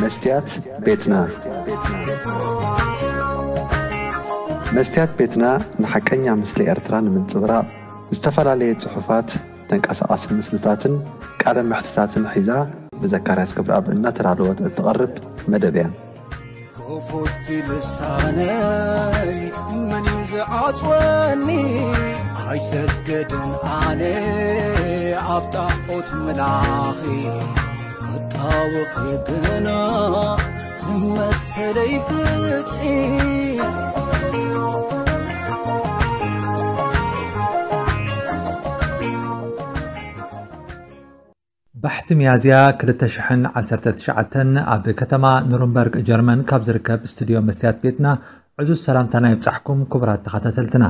መስትያት ቤትና። መስትያት ቤትና ንሓቀኛ ምስሊ ኤርትራ ንምንጽብራቕ ዝተፈላለየ ጽሑፋት፣ ተንቀሳቓሲ ምስልታትን ቃለ መሕትታትን ሒዛ ብዘካርያስ ክብረኣብ እናተዳለወት እትቐርብ መደብ እያ። ክፉት ልሳነይ መን እዩ ዝዓጽወኒ? ኣይሰግድን ኣነ ኣብ ጣዖት ምላኺ፣ ክጣወኺ ግና መሰለይ ፍትሒ። ባሕቲ ሚያዝያ ክልተ ሽሕን ዓሰርተ ትሽዓተን ኣብ ከተማ ኑርንበርግ ጀርመን ካብ ዝርከብ ስቱድዮ መስትያት ቤትና ዕዙዝ ሰላምታና ይብጻሕኩም ክቡራት ተኸታተልትና።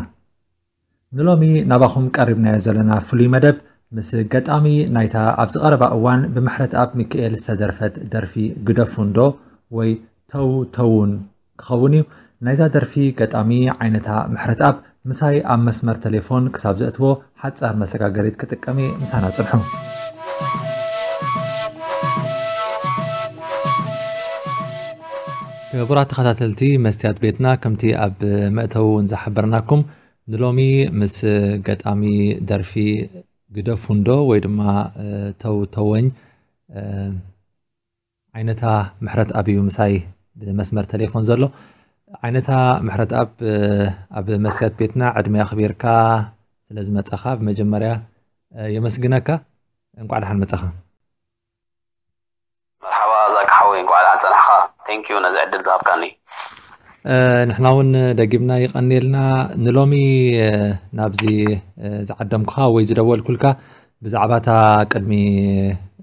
ንሎሚ ናባኹም ቀሪብናዮ ዘለና ፍሉይ መደብ ምስ ገጣሚ ናይታ ኣብዚ ቀረባ እዋን ብምሕረተኣብ ሚካኤል ዝተደርፈት ደርፊ ግደፉ እንዶ ወይ ተው ተውን ክኸውን እዩ። ናይዛ ደርፊ ገጣሚ ዓይነታ ምሕረተኣብ ምሳይ ኣብ መስመር ቴሌፎን ክሳብ ዘእትዎ ሓጻር መሰጋገሪት ክጥቀም እየ። ምሳና ጽንሑ። ክቡራት ተኸታተልቲ መስትያት ቤትና፣ ከምቲ ኣብ መእተዊ እውን ዝሓበርናኩም፣ ንሎሚ ምስ ገጣሚ ደርፊ ግደፉ እንዶ ወይ ድማ፣ እ፣ ተው ተወኝ፣ እ፣ ዓይነታ ምሕረተኣብ እዩ ምሳይ ብመስመር ቴሌፎን ዘሎ። ዓይነታ ምሕረተኣብ፣ እ፣ ኣብ መስትያት ቤትና ዕድመ ኣኽቢርካ ስለ ዝመጻኻ ብመጀመርያ፣ እ፣ የመስግነካ። እንቋዕ ደሓን መጻኻ። መርሓባ ዛኪ ሓወይ፣ እንቋዕ ደሓን ጸናሕካ። Thank you ነዚ ዕድል ዝሃብካኒ። እ፣ ንሕና እውን ደጊምና የቐንየልና። ንሎሚ፣ እ፣ ናብዚ፣ እ፣ ዝዓደምኩኻ ወይ ዝደወልኩልካ ብዛዕባ እታ ቅድሚ፣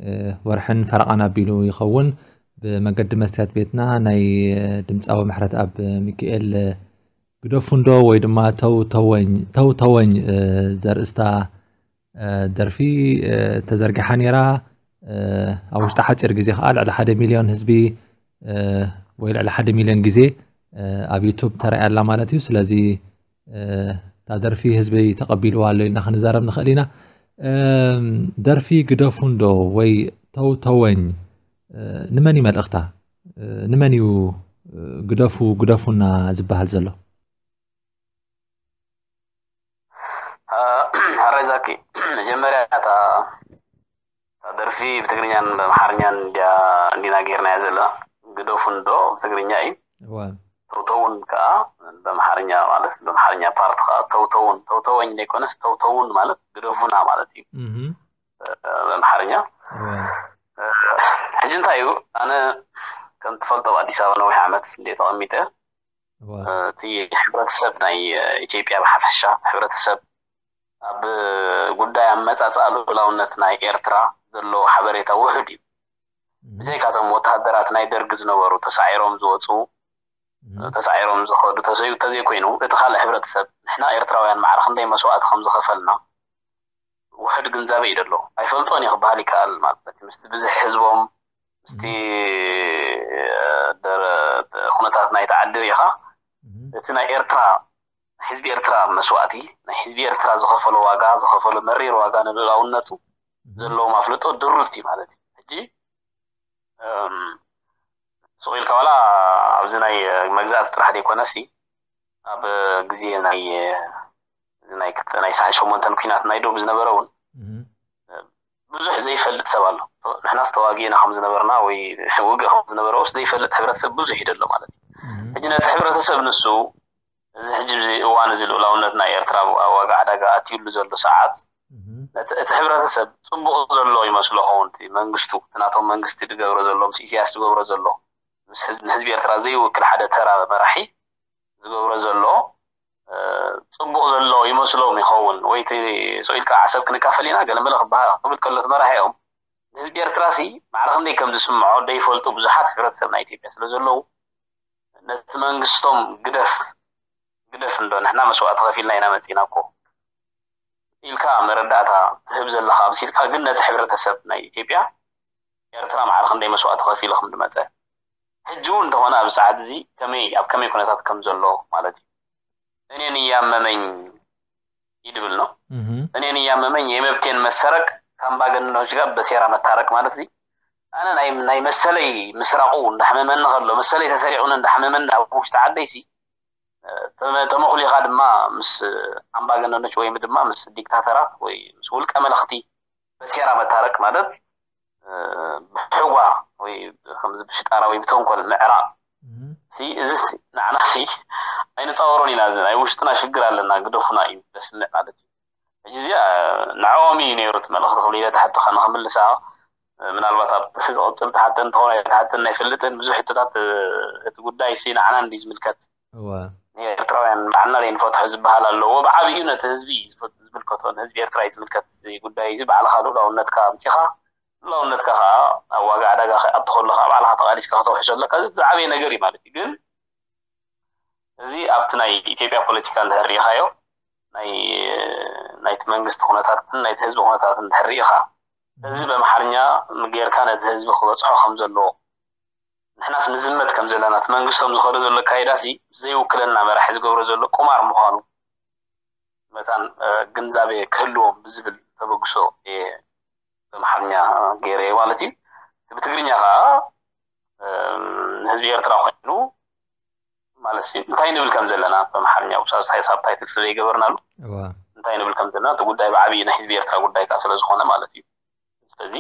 እ፣ ወርሕን ፈረቓን ኣቢሉ ይኸውን ብመገዲ መስትያት ቤትና ናይ፣ እ፣ ድምጻዊ ምሕረተኣብ ሚካኤል፣ እ፣ ግደፉ እንዶ ወይ ድማ ተው ተወኝ፣ ተው ተወኝ፣ እ፣ ዘርእስታ፣ እ፣ ደርፊ፣ እ፣ ተዘርጊሓ ነይራ። እ፣ ኣብ ውሽጢ ሓጺር ግዜ ከኣ ልዕሊ ሓደ ሚልዮን ህዝቢ፣ እ፣ ወይ ልዕሊ ሓደ ሚልዮን ግዜ፣ እ፣ ኣብ ዩቱብ ተራእያ ኣላ ማለት እዩ። ስለዚ፣ እ፣ እታ ደርፊ ህዝቢ ተቐቢልዋ ኣሎ ኢልና ክንዛረብ ንኽእል ኢና። እም፣ ደርፊ ግደፉ እንዶ ወይ ተው ተወኝ፣ እ፣ ንመን እዩ መልእኽታ? እ፣ ንመን እዩ፣ እ፣ ግደፉ፣ ግደፉና ዝበሃል ዘሎ? እ፣ ሕራይ ዛኪ፣ መጀመርያ እታ፣ እታ ደርፊ ብትግርኛን ብኣምሓርኛን እንድያ፣ እንዲና ጌርናያ ዘለና። ግደፉ እንዶ ብትግርኛ እዩ። እዋ። ተውተውን ከኣ ብኣምሓርኛ ማለት፣ ብኣምሓርኛ ፓርት ከኣ ተውተውን፣ ተውተወኝ ዘይኮነስ ተውተውን ማለት ግደፉና ማለት እዩ። እህ። እ፣ ብኣምሓርኛ። እዋ። እ፣ ሕጂ እንታይ እዩ፣ ኣነ ከም ትፈልጦ ኣብ ኣዲስ ኣበባ ነዊሕ ዓመት እንደ ተቐሚጠ፣ እዋ። እ፣ እቲ ሕብረተሰብ ናይ፣ እ፣ ኢትዮጵያ ብሓፈሻ፣ ሕብረተሰብ ኣብ ጉዳይ ኣመጻጽኣ ልኡላውነት ናይ ኤርትራ ዘለዎ ሓበሬታ ውሑድ እዩ። እህ። ብዘይካቶም ወተሃደራት ናይ ደርግ ዝነበሩ ተሳዒሮም ዝወጹ፣ እህ። ተሳዒሮም ዝኸዱ ተዘይ-፣ ተዘይኮይኑ፣ እቲ ካልእ ሕብረተሰብ ንሕና ኤርትራውያን ማዕረ ክንደይ መስዋእቲ ከም ዝኸፈልና ውሑድ ግንዛበ እዩ ዘሎ። ኣይፈልጦን እዩ ክበሃል ይከኣል ማለት እዩ። ምስቲ ብዝሒ ህዝቦም፣ ምስቲ፣ እ፣ ደረ-፣ ኩነታት ናይቲ ዓዲ ርኢኻ፣ እህ። እቲ ናይ ኤርትራ፣ ህዝቢ ኤርትራ መስዋእቲ፣ ናይ ህዝቢ ኤርትራ ዝኸፈሎ ዋጋ፣ ዝኸፈሎ መሪር ዋጋ ንልኡላውነቱ እህ። ዘለዎም ኣፍልጦ ድሩት እዩ ማለት እዩ። ሕጂ፣ እም፣ ስቕ ኢልካ ዋላ ኣብዚ ናይ መግዛእቲ ጥራሕ ዘይኮነሲ፣ ኣብ ግዜ ናይ፣ እዚ ናይ ክልተ፣ ናይ ሰዓን ሸሞንተን ኲናት ናይ ዶብ ዝነበረ እውን እህ። ብዙሕ ዘይፈልጥ ሰብ ኣሎ። ንሕናስ ተዋጊእና ከም ዝነበርና ወይ ውግእ ከም ዝነበረ ውስ ዘይፈልጥ ሕብረተሰብ ብዙሕ እዩ ዘሎ ማለት እዩ። እህ። ሕጂ ነቲ ሕብረተሰብ ንሱ፣ እዚ ሕጂ እዚ እዋን እዚ ልኡላውነት ናይ ኤርትራ ኣብ ዋጋ ዕዳጋ ኣትዩሉ ዘሎ ሰዓት፣ እህ። ነቲ፣ እቲ ሕብረተሰብ ጽቡቕ ዘሎ ይመስሎ ኸውን፣ እቲ መንግስቱ፣ እቲ ናቶም መንግስቲ ዝገብሮ ዘሎ፣ ምስ ኢሳያስ ዝገብሮ ዘሎ፣ ምስ ህዝ-፣ ንህዝቢ ኤርትራ ዘይውክል ሓደ ተራ መራሒ ዝገብሮ ዘሎ፣ እ፣ ጽቡቕ ዘሎ ይመስሎም ይኸውን። ወይ እቲ ስቕ ኢልካ ዓሰብ ክንካፈል ኢና፣ ገለ መለ ክበሃል፣ ክብል ከሎ እቲ መራሒኦም፣ ንህዝቢ ኤርትራ ሲ ማዕረ ክንደይ ከም ዝስምዖ ደይፈልጡ ብዙሓት ሕብረተሰብ ናይ ኢትዮጵያ ስለ ዘለዉ፣ ነቲ መንግስቶም ግደፍ፣ ግደፍ እንዶ፣ ንሕና መስዋእቲ ከፊልና ኢና መጺና እኮ ኢልካ መረዳእታ ትህብ ዘለኻ ኣምሲልካ፣ ግን ነቲ ሕብረተሰብ ናይ ኢትዮጵያ፣ ኤርትራ ማዕረ ክንደይ መስዋእቲ ከፊሉ ከም ዝመጸ፣ ሕጂ እውን እንተኾነ ኣብዚ ሰዓት እዚ ከመይ፣ ኣብ ከመይ ኩነታት ከም ዘሎ ማለት እዩ። እኔን እያመመኝ ይድብል ነው። እህ። እኔን እያመመኝ የመብቴን መሰረቅ ከአምባገነኖች ጋር በሴራ መታረቅ ማለት እዚ ኣነ ናይ ናይ መሰለይ ምስራቑ እንዳሕመመኒ ከሎ፣ መሰለይ ተሰሪቑኒ እንዳሕመመኒ ኣብ ውሽጢ ዓደይሲ፣ እ፣ ተመ-፣ ተመኹሊኻ ድማ ምስ ኣምባገነኖች ወይም ድማ ምስ ዲክታተራት ወይ ምስ ውልቀ መለኽቲ በሴራ መታረቅ ማለት፣ እ፣ ብሕጓ ወይ ከምዚ ብሽጣራ ወይ ብተንኮል ምዕራቕ እም። ሲ፣ እዚስ ንዓናሲ ኣይንፃወሮን ኢና። እዚ ናይ ውሽጥና ሽግር ኣለና፣ ግደፉና እዩ ዘስምዕ ማለት እዩ። ሕጂ እዚኣ ንዕኦም እዩ ነይሩ እቲ መልእኽቲ ክብል ኢለ ትሓትኻ ንኽምልሳ፣ ምናልባት ኣብ ዝቕፅል ትሓተ እንተኾነ ኣይትሓተን ኣይፈልጥን። ብዙሕ ሕቶታት፣ እቲ ጉዳይ ሲ ንዓና እንዲ ዝምልከት፣ እወ። ንኤርትራውያን ባዕልና ዘይንፈትሖ ዝበሃል ኣለዎ። ብዓብዩ ነቲ ህዝቢ እዩ ዝፈ-፣ ዝምልከቶ፣ ንህዝቢ ኤርትራ እዩ ዝምልከት እዚ ጉዳይ እዚ። ባዕልኻ ልኡላውነትካ ኣምፂኻ፣ ልኡላውነትካ ከዓ ኣብ ዋጋ ዕዳጋ ክኣቱ ከሎ ከዓ ባዕልኻ ተቓሊስካ ከተውሕሶ ኣለካ። እዚ ዝዓበየ ነገር እዩ ማለት እዩ። ግን እዚ ኣብቲ ናይ ኢትዮጵያ ፖለቲካ እንድሕር ርኢኻዮ፣ ናይ፣ ናይቲ መንግስቲ ኩነታትን ናይቲ ህዝቢ ኩነታትን እንድሕር ርኢኻ፣ እዚ ብኣምሓርኛ ጌርካ ነቲ ህዝቢ ክበፅሖ ከም ዘለዎ፣ ንሕናስ ንዝመት ከም ዘለና፣ እቲ መንግስቶም ዝኸዶ ዘሎ ኣካይዳሲ ዘይውክለና መራሒ ዝገብሮ ዘሎ ቁማር ምዃኑ መታን፣ እ፣ ግንዛቤ ክህልዎም ብዝብል ተበግሶ እየ ብኣምሓርኛ ገይረዮ ማለት እዩ። ብትግርኛ ከዓ፣ እ፣ ንህዝቢ ኤርትራ ኮይኑ ማለት እዩ፣ እንታይ ንብል ከም ዘለና ብኣምሓርኛ ሳብታይ-፣ ሳብታይትል ስለ ዘይገበርናሉ እዋ። እንታይ ንብል ከም ዘለና፣ እቲ ጉዳይ ብዓብዪ ናይ ህዝቢ ኤርትራ ጉዳይ ከዓ ስለ ዝኾነ ማለት እዩ። ስለዚ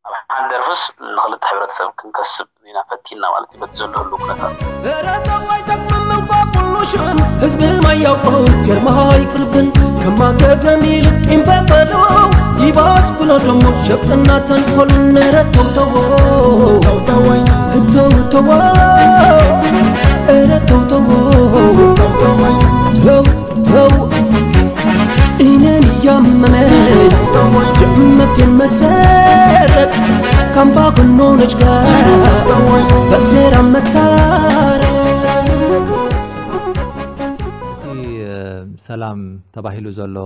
ኣብ ሓንቲ ደርፍስ ንኽልተ ሕብረተሰብ ክንከስብ ኢና ፈቲና ማለት እዩ፣ በቲ ዘሎ ህሉ ኩነታት። ኧረ ተው ኣይጠቅምም እንኳ ኩሉ ሽዕን ህዝቢ ማያውቀውን ፌርማ ኣይቅርብን ከማገገም ይልቅ ቂም በቀሉ ይባስ ብሎ ደሞ ሸፍጥና ተንኮልን። ኧረ ተው ተው ተው ተው ተው ተው ኧረ ተው ተው ተው ተው ተው እኔን እያመመኝ የእምነቴን መሰረት ካምባገነኖች ጋር በሴራ መታረቅ። እቲ፣ እ፣ ሰላም ተባሂሉ ዘሎ፣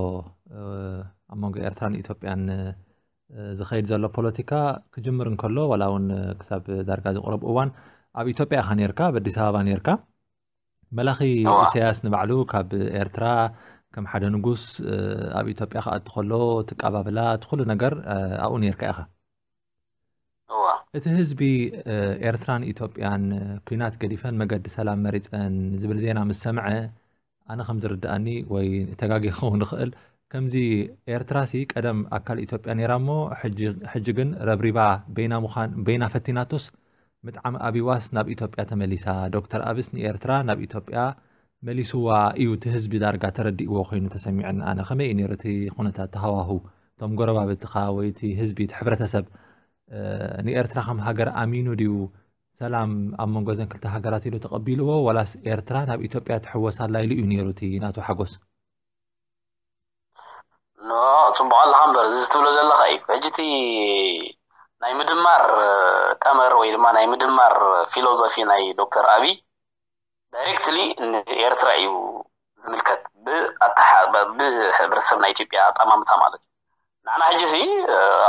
እ፣ ኣብ መንጎ ኤርትራን ኢትዮጵያን፣ እ፣ ዝኸይድ ዘሎ ፖለቲካ ክጅምር እንከሎ፣ ዋላ እውን ክሳብ ዳርጋ ዝቕረብ እዋን ኣብ ኢትዮጵያ ኢኻ ነይርካ፣ ኣብ ኣዲስ ኣበባ ነይርካ። መላኺ እዋ። ኢሳያስ ንባዕሉ ካብ ኤርትራ ከም ሓደ ንጉስ፣ እ፣ ኣብ ኢትዮጵያ ክኣቱ ከሎ፣ እቲ ኣቀባብላ፣ እቲ ኩሉ ነገር፣ እ፣ ኣብኡ ነይርካ ኢኻ። እዋ። እቲ ህዝቢ፣ እ፣ ኤርትራን ኢትዮጵያን፣ እ፣ ኲናት ገዲፈን መገዲ ሰላም መሪጸን ዝብል ዜና ምስ ሰምዐ፣ ኣነ ከም ዝርድኣኒ ወይ ተጋጊ ክኸውን ይኽእል፣ ከምዚ ኤርትራሲ ቀደም ኣካል ኢትዮጵያ ነይራ እሞ፣ ሕጂ፣ ሕጂ ግን ረብሪባ በይና ምዃን፣ በይና ፈቲናቶስ፣ ምጥዓም ኣብይዋስ ናብ ኢትዮጵያ ተመሊሳ። ዶክተር ኣብስ ንኤርትራ ናብ ኢትዮጵያ መሊስዋ እዩ እቲ ህዝቢ ዳርጋ ተረዲእዎ ኮይኑ ተሰሚዑኒ። ኣነ ከመይ እዩ ነይሩ እቲ ኩነታት፣ እቲ ሃዋሁ? እቶም ጎረባብትኻ ወይ እቲ ህዝቢ፣ እቲ ሕብረተሰብ፣ እ፣ ንኤርትራ ከም ሃገር ኣሚኑ ድዩ ሰላም ኣብ መንጎ እዘን ክልተ ሃገራት ኢሉ ተቐቢልዎ፣ ዋላስ ኤርትራ ናብ ኢትዮጵያ ትሕወስ ኣላ ኢሉ እዩ ነይሩ እቲ ናቱ ሓጎስ? ኖ፣ ጽቡቕ ኣለኻ እምበር፣ እዚ ትብሎ ዘለኻ እዩ። ሕጂ እቲ ናይ ምድማር ቀመር ወይ ድማ ናይ ምድማር ፊሎዞፊ ናይ ዶክተር ኣብይ ዳይሬክትሊ ንኤርትራ እዩ ዝምልከት፣ ብኣተሓ-፣ ብ-፣ ብሕብረተሰብ ናይ ኢትዮጵያ ኣጠማምታ ማለት እዩ። ንዓና ሕጂ ሲ፣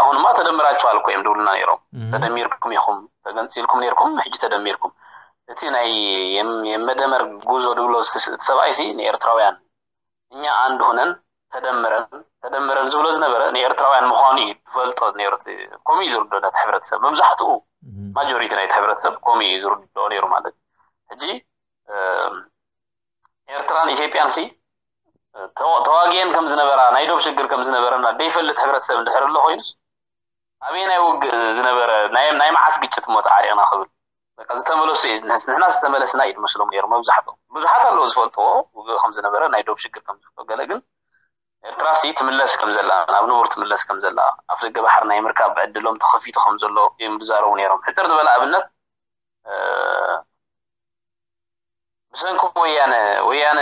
ኣሁንማ ተደምራችኋል እኮ እዮም ድብሉና ነይሮም። እህ። ተደሚርኩም ኢኹም፣ ተገንጺልኩም ነይርኩም፣ ሕጂ ተደሚርኩም። እቲ ናይ የም-፣ የመደመር ጉዞ ድብሎ ስ-፣ ስ-፣ እቲ ሰብኣይ ሲ ንኤርትራውያን እኛ ኣንድ ሆነን ተደምረን፣ ተደምረን ዝብሎ ዝነበረ ንኤርትራውያን ምዃኑ እዩ ዝፈልጦ ነይሩ። እቲ ከምኡ እዩ ዝርድኦ ነቲ ሕብረተሰብ። መብዛሕትኡ እህ። ማጆሪቲ ናይቲ ሕብረተሰብ ከምኡ እዩ ዝርድኦ ነይሩ ማለት እዩ። ሕጂ፣ እ፣ ኤርትራን ኢትዮጵያን ሲ፣ ተዋ-፣ ተዋጊኤን ከም ዝነበራ፣ ናይ ዶብ ሽግር ከም ዝነበረና ደይፈልጥ ሕብረተሰብ እንድሕር ኣሎ ኮይኑስ፣ ኣበየናይ ውግእ ዝነበረ፣ ናይ፣ ናይ መዓስ ግጭት እሞ ተዓሪቕና ክብል? በቃ ዝተመለሱ እዩ፣ ንሕና ዝተመለስና እዩ ዝመስሎም ነይሩ መብዛሕትኦም። ብዙሓት ኣለዉ ዝፈልጥዎ ውግእ ከም ዝነበረ፣ ናይ ዶብ ሽግር ከም ዝፈልጥዎ። ገለ ግን ኤርትራ ሲ ትምለስ ከም ዘላ፣ ናብ ንቡር ትምለስ ከም ዘላ፣ ኣፍ ደገ ባሕሪ ናይ ምርካብ ዕድሎም ተኸፊቱ ከም ዘሎ እዮም ዝዛረቡ ነይሮም። ሕጽር ዝበለ ኣብነት፣ እ፣ ብሰንኪ ወያነ፣ ወያነ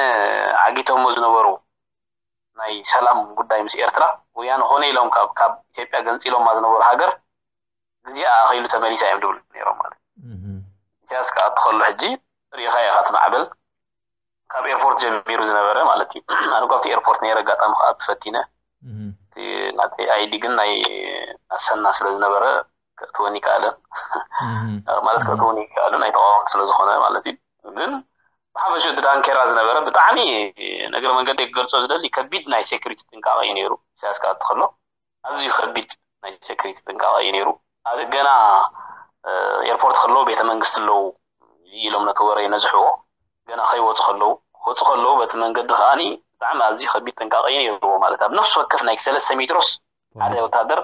ዓጊቶሞ ዝነበሩ ናይ ሰላም ጉዳይ ምስ ኤርትራ፣ ወያነ ኮነ ኢሎም ካብ፣ ካብ ኢትዮጵያ ገንጺሎማ ዝነበሩ ሃገር፣ ግዚኣ ኣኺሉ ተመሊሳ እዮም ድብሉ ነይሮም ማለት እዩ። እህ። ኢሳያስ ክኣቱ ከሎ ሕጂ ርኢኻ ኢኻ እቲ ማዕበል ካብ ኤርፖርት ጀሚሩ ዝነበረ ማለት እዩ። ኣነ እኮ ኣብቲ ኤርፖርት ነይረ፣ ኣጋጣሚ ክኣቱ ፈቲነ። እህ። እቲ ናተይ ኣይዲ ግን ናይ ኣሰና ስለ ዝነበረ ከእትወኒ ይከኣለን። እህ። ማለት እህ። ከእትወኒ ይከኣለን፣ ናይ ተቃወምቲ ስለ ዝኾነ ማለት እዩ። ግን ብሓፈሽኡ እቲ ዳንኬራ ዝነበረ ብጣዕሚ፣ እግረ መንገደይ ክገልጾ ዝደሊ፣ ከቢድ ናይ ሴኩሪቲ ጥንቃቐ እዩ ነይሩ። ኢሳያስ ክኣቱ ከሎ ኣዝዩ ከቢድ ናይ ሴኩሪቲ ጥንቃቐ እዩ ነይሩ። ኣብ ገና ኤርፖርት ከለዉ ቤተ መንግስቲ ኣለዉ ኢሎም ነቲ ወረ ይነዝሕዎ። ገና ከይወፁ ከለዉ ክወፁ ከለዉ በቲ መንገዲ ከዓኒ ብጣዕሚ ኣዝዩ ከቢድ ጥንቃቄ እዩ ነይርዎ። ማለት ኣብ ነፍሲ ወከፍ ናይ ሰለስተ ሜትሮስ ሓደ ወታደር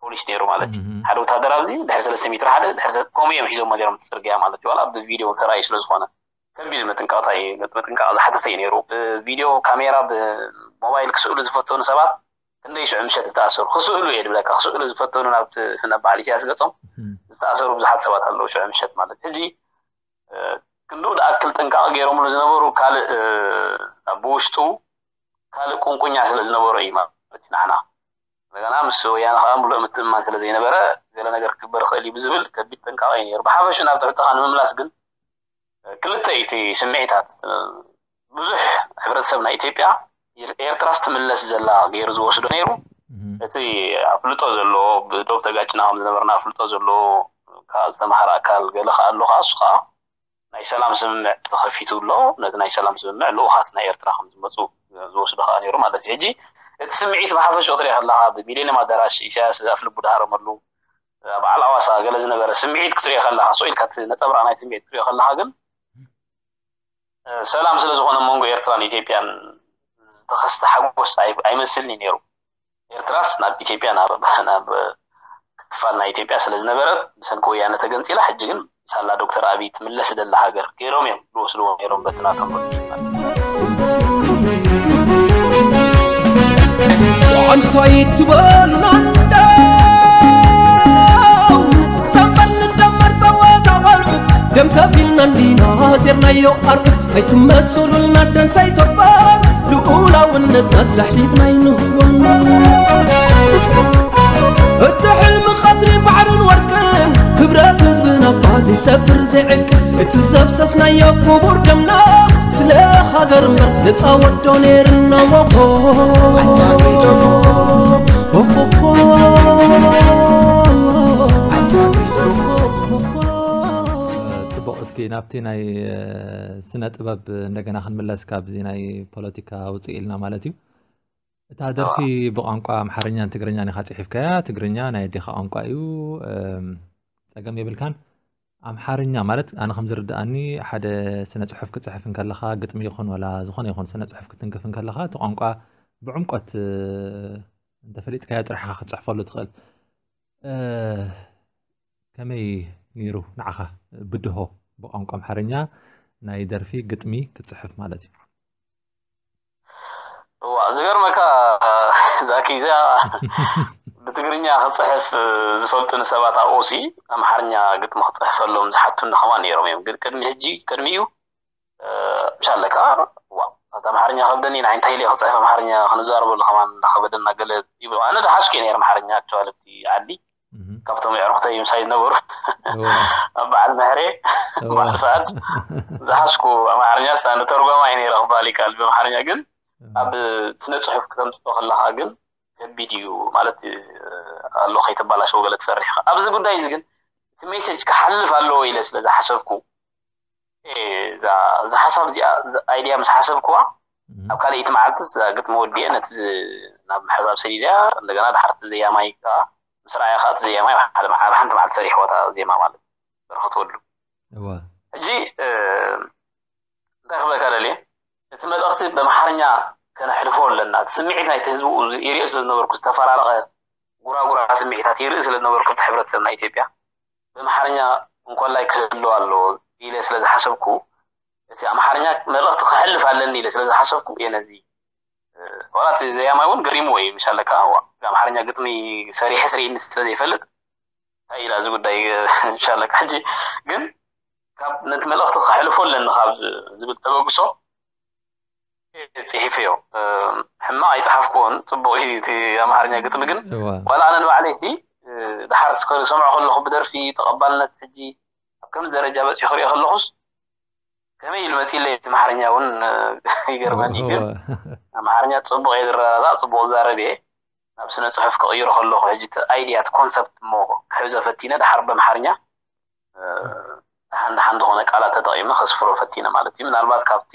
ፖሊስ ነይሩ ማለት እዩ። ሓደ ወታደር ኣብዚ ድሕሪ ሰለስተ ሜትሮ ሓደ ድሕሪ ሰለ- ከምኡ እዮም ሒዞሞ ነይሮም እቲ ፅርግያ ማለት እዩ። ዋላ ብቪድዮ ተራእዩ ስለ ዝኾነ ከቢድ ምጥንቃቕታ እዩ። ምጥንቃቕ ዝሓተተ እዩ ነይሩ። ብቪድዮ ካሜራ ብሞባይል ክስእሉ ዝፈተኑ ሰባት ክንደይ ሽዑ ምሸት ዝተኣሰሩ ክስእሉ እየ ድብለካ። ክስእሉ ዝፈተኑ ናብ ናብ በዓል ኢሳያስ ገጾም ዝተኣሰሩ ብዙሓት ሰባት ኣለዉ ሽዑ ምሸት ማለት ሕጂ ክንድኡ ዝኣክል ጥንቃቕ ገይሮምሉ ዝነበሩ ካልእ ብውሽጡ ካልእ ቁንቁኛ ስለ ዝነበሮ እዩ ማለት እዩ። ንዓና እንደገና ምስ ወያነ ከዓ ሙሉእ ምትእምማን ስለ ዘይነበረ ገለ ነገር ክግበር ይኽእል እዩ ብዝብል ከቢድ ጥንቃቐ እዩ ነይሩ። ብሓፈሹ ናብ ትሕቶኻ ንምምላስ ግን ክልተ እዩ እቲ ስምዒታት። ብዙሕ ሕብረተሰብ ናይ ኢትዮጵያ ኤርትራስ ትምለስ ዘላ ገይሩ ዝወስዶ ነይሩ። እቲ ኣፍልጦ ዘለዎ ብዶብ ተጋጭና ከም ዝነበርና ኣፍልጦ ዘለዎ ዝተምሃረ ኣካል ገለ ከዓ ኣሎ ከዓ እሱ ከዓ ናይ ሰላም ስምምዕ ተኸፊቱ ኣሎ። ነቲ ናይ ሰላም ስምምዕ ልኡኻት ናይ ኤርትራ ከም ዝመፁ ዝወስዶ ከዓ ነይሩ ማለት እዩ። ሕጂ እቲ ስምዒት ብሓፈሽኡ ክትሪኦ ከለካ ብሚሌኒየም ኣዳራሽ ኢሳያስ ኣፍልቡ ድሃረመሉ በዓል ኣዋሳ ገለ ዝነበረ ስምዒት ክትሪኦ ከለካ ስቕ ኢልካ እቲ ነፀብራቕ ናይ ስምዒት ክትሪኦ ከለካ ግን ሰላም ስለ ዝኾነ መንጎ ኤርትራን ኢትዮጵያን ዝተኸስተ ሓጎስ ኣይመስልን እዩ ነይሩ። ኤርትራስ ናብ ኢትዮጵያ ናብ ክፋል ናይ ኢትዮጵያ ስለ ዝነበረት ብሰንኪ ወያነ ተገንፂላ ሕጂ ግን ሳላ ዶክተር ኣብይ ትምለስ ደላ ሃገር ገይሮም እዮም ዝወስድዎ ነይሮም በቲ ናቶም እንታይ ትበሉና እንደው ዘንበል እንደመር ጸወታ ቆልዑት ደም ከፊልና እንዲና ዜርናዮ ኣርዑት ኣይትመሰሉልና ደንሳይ ተባል ልኡላውነትና ዘሕሊፍና ኣይንህቦን እቲ ሕልሚ ቀድሪ ባሕርን ወርቅን ክብረት ህዝብና እባ ዘይሰፍር ዘይዕቅል እቲ ዘፍሰስናዮ ክቡር ደምና ስለ ሃገር እምበር ነፃ ወዶ ነይርና ሞኾ ፅቡቕ እስኪ ናብቲ ናይ ስነ ጥበብ እንደገና ክንምለስ ካብዚ ናይ ፖለቲካ ውፅእ ኢልና ማለት እዩ እታ ደርፊ ብቋንቋ ኣምሓርኛን ትግርኛን ኢኻ ፅሒፍካያ ትግርኛ ናይ ኣዴኻ ቋንቋ እዩ ፀገም የብልካን ኣምሓርኛ ማለት ኣነ ከም ዝርድኣኒ ሓደ ስነ ፅሑፍ ክፅሕፍ እንከለኻ ግጥሚ ይኹን ወላ ዝኾነ ይኹን ስነ ፅሑፍ ክትንክፍ እንከለኻ እቲ ቋንቋ ብዕምቆት እንተፈሊጥካዮ ጥራሕ ኢኻ ክትፅሕፈሉ ትኽእል ከመይ ነይሩ ንዓኻ ብድሆ ብቋንቋ ኣምሓርኛ ናይ ደርፊ ግጥሚ ክትፅሕፍ ማለት እዩ እዋ ዝገርመካ ዛኪ እዚኣ ብትግርኛ ክፅሕፍ ዝፈልጡኒ ሰባት ኣብኡ ሲ ኣምሓርኛ ግጥሚ ክፅሕፈሎም ዝሓቱኒ ከማን ነይሮም እዮም ግን ቅድሚ ሕጂ ቅድሚኡ ምሻለካ ዋ ኣምሓርኛ ከብደኒ ንዓይ እንታይ ኢለ ክፅሕፍ ኣምሓርኛ ክንዛረበሉ ከማን እንዳኸበደና ገለ ይብሉ ኣነ ዝሓዝኩ ነይረ ኣምሓርኛ ኣክቸዋሊ ኣብቲ ዓዲ ካብቶም የዕሩኽተይ ምሳይ ዝነበሩ ኣብ በዓል ምሕሬ በዓል ፍኣድ ዝሓዝኩ ኣምሓርኛ ስታ ንተርጓማ እዩ ነይረ ክበሃል ይከኣል ብኣምሓርኛ ግን ኣብ ስነ ፅሑፍ ክተምፅኦ ከለካ ግን ከቢድ እዩ ማለት ኣሎ ከይተባላሸው ገለ ትፈርሕ ኢኻ ኣብዚ ጉዳይ እዚ ግን እቲ ሜሴጅ ክሓልፍ ኣለዎ ኢለ ስለ ዝሓሰብኩ እዛ ሓሳብ እዚኣ ኣይድያ ምስ ሓሰብክዋ ኣብ ካልኣይቲ መዓልቲ እዛ ግጥሚ ወዲኤ ነቲ ናብ ሕሳብ ሰዲድያ እንደገና ድሓርቲ ዘያማይ ከዓ ምስ ረኣያ ከዓ እቲ ዘያማይ ኣብ ሓንቲ መዓልቲ ሰሪሕዎ እታ ዜማ ማለት በረኸት ወሉ ሕጂ እንታይ ክብለካ ደልየ እቲ መልእኽቲ ብኣምሓርኛ ከነሕልፎ ኣለና እቲ ስምዒት ናይቲ ህዝቢ ይሪኦ ስለ ዝነበርኩ ዝተፈራረቐ ጉራጉራ ስምዒታት ይርኢ ስለ ዝነበርኩ እቲ ሕብረተሰብ ናይ ኢትዮጵያ ብኣምሓርኛ እንኮላይ ክህልው ኣለዎ ኢለ ስለ ዝሓሰብኩ እቲ ኣምሓርኛ መልእኽቲ ክሕልፍ ኣለኒ ኢለ ስለ ዝሓሰብኩ እየ ነዚ ዋላ እቲ ዘያማይ እውን ገሪምዎ እዩ ምሻለካ ኣምሓርኛ ግጥሚ ሰሪሐ ስርኢኒ ስለ ዘይፈልጥ እንታይ ኢላ እዚ ጉዳይ ምሻለካ ሕጂ ግን ካብ ነቲ መልእኽቲ ከሕልፎ ኣለኒ ካብ ዝብል ተበግሶ ፅሒፈዮ ሕማቕ ኣይፀሓፍክዎን ፅቡቕ እዩ እቲ ኣምሓርኛ ግጥሚ ግን ዋላ ኣነ ንባዕለይ ሲ ድሓር ዝሰምዖ ከለኹ ብደርፊ ተቐባልነት ሕጂ ኣብ ከምዚ ደረጃ በፂሑ ክሪኦ ከለኹስ ከመይ ኢሉ መፂለይ እቲ ኣምሓርኛ እውን ይገርመኒ ግን ኣምሓርኛ ፅቡቕ እየ ዝረዳዳእ ፅቡቕ ዝዛረብ እየ ናብ ስነ ፅሑፍ ክቕይሮ ከለኹ ሕጂ እቲ ኣይድያ እቲ ኮንሰፕት እሞ ክሕዞ ፈቲነ ድሓር ብኣምሓርኛ ደሓን ደሓን ዝኾነ ቃላት ተጠቒመ ከስፍሮ ፈቲነ ማለት እዩ ምናልባት ካብቲ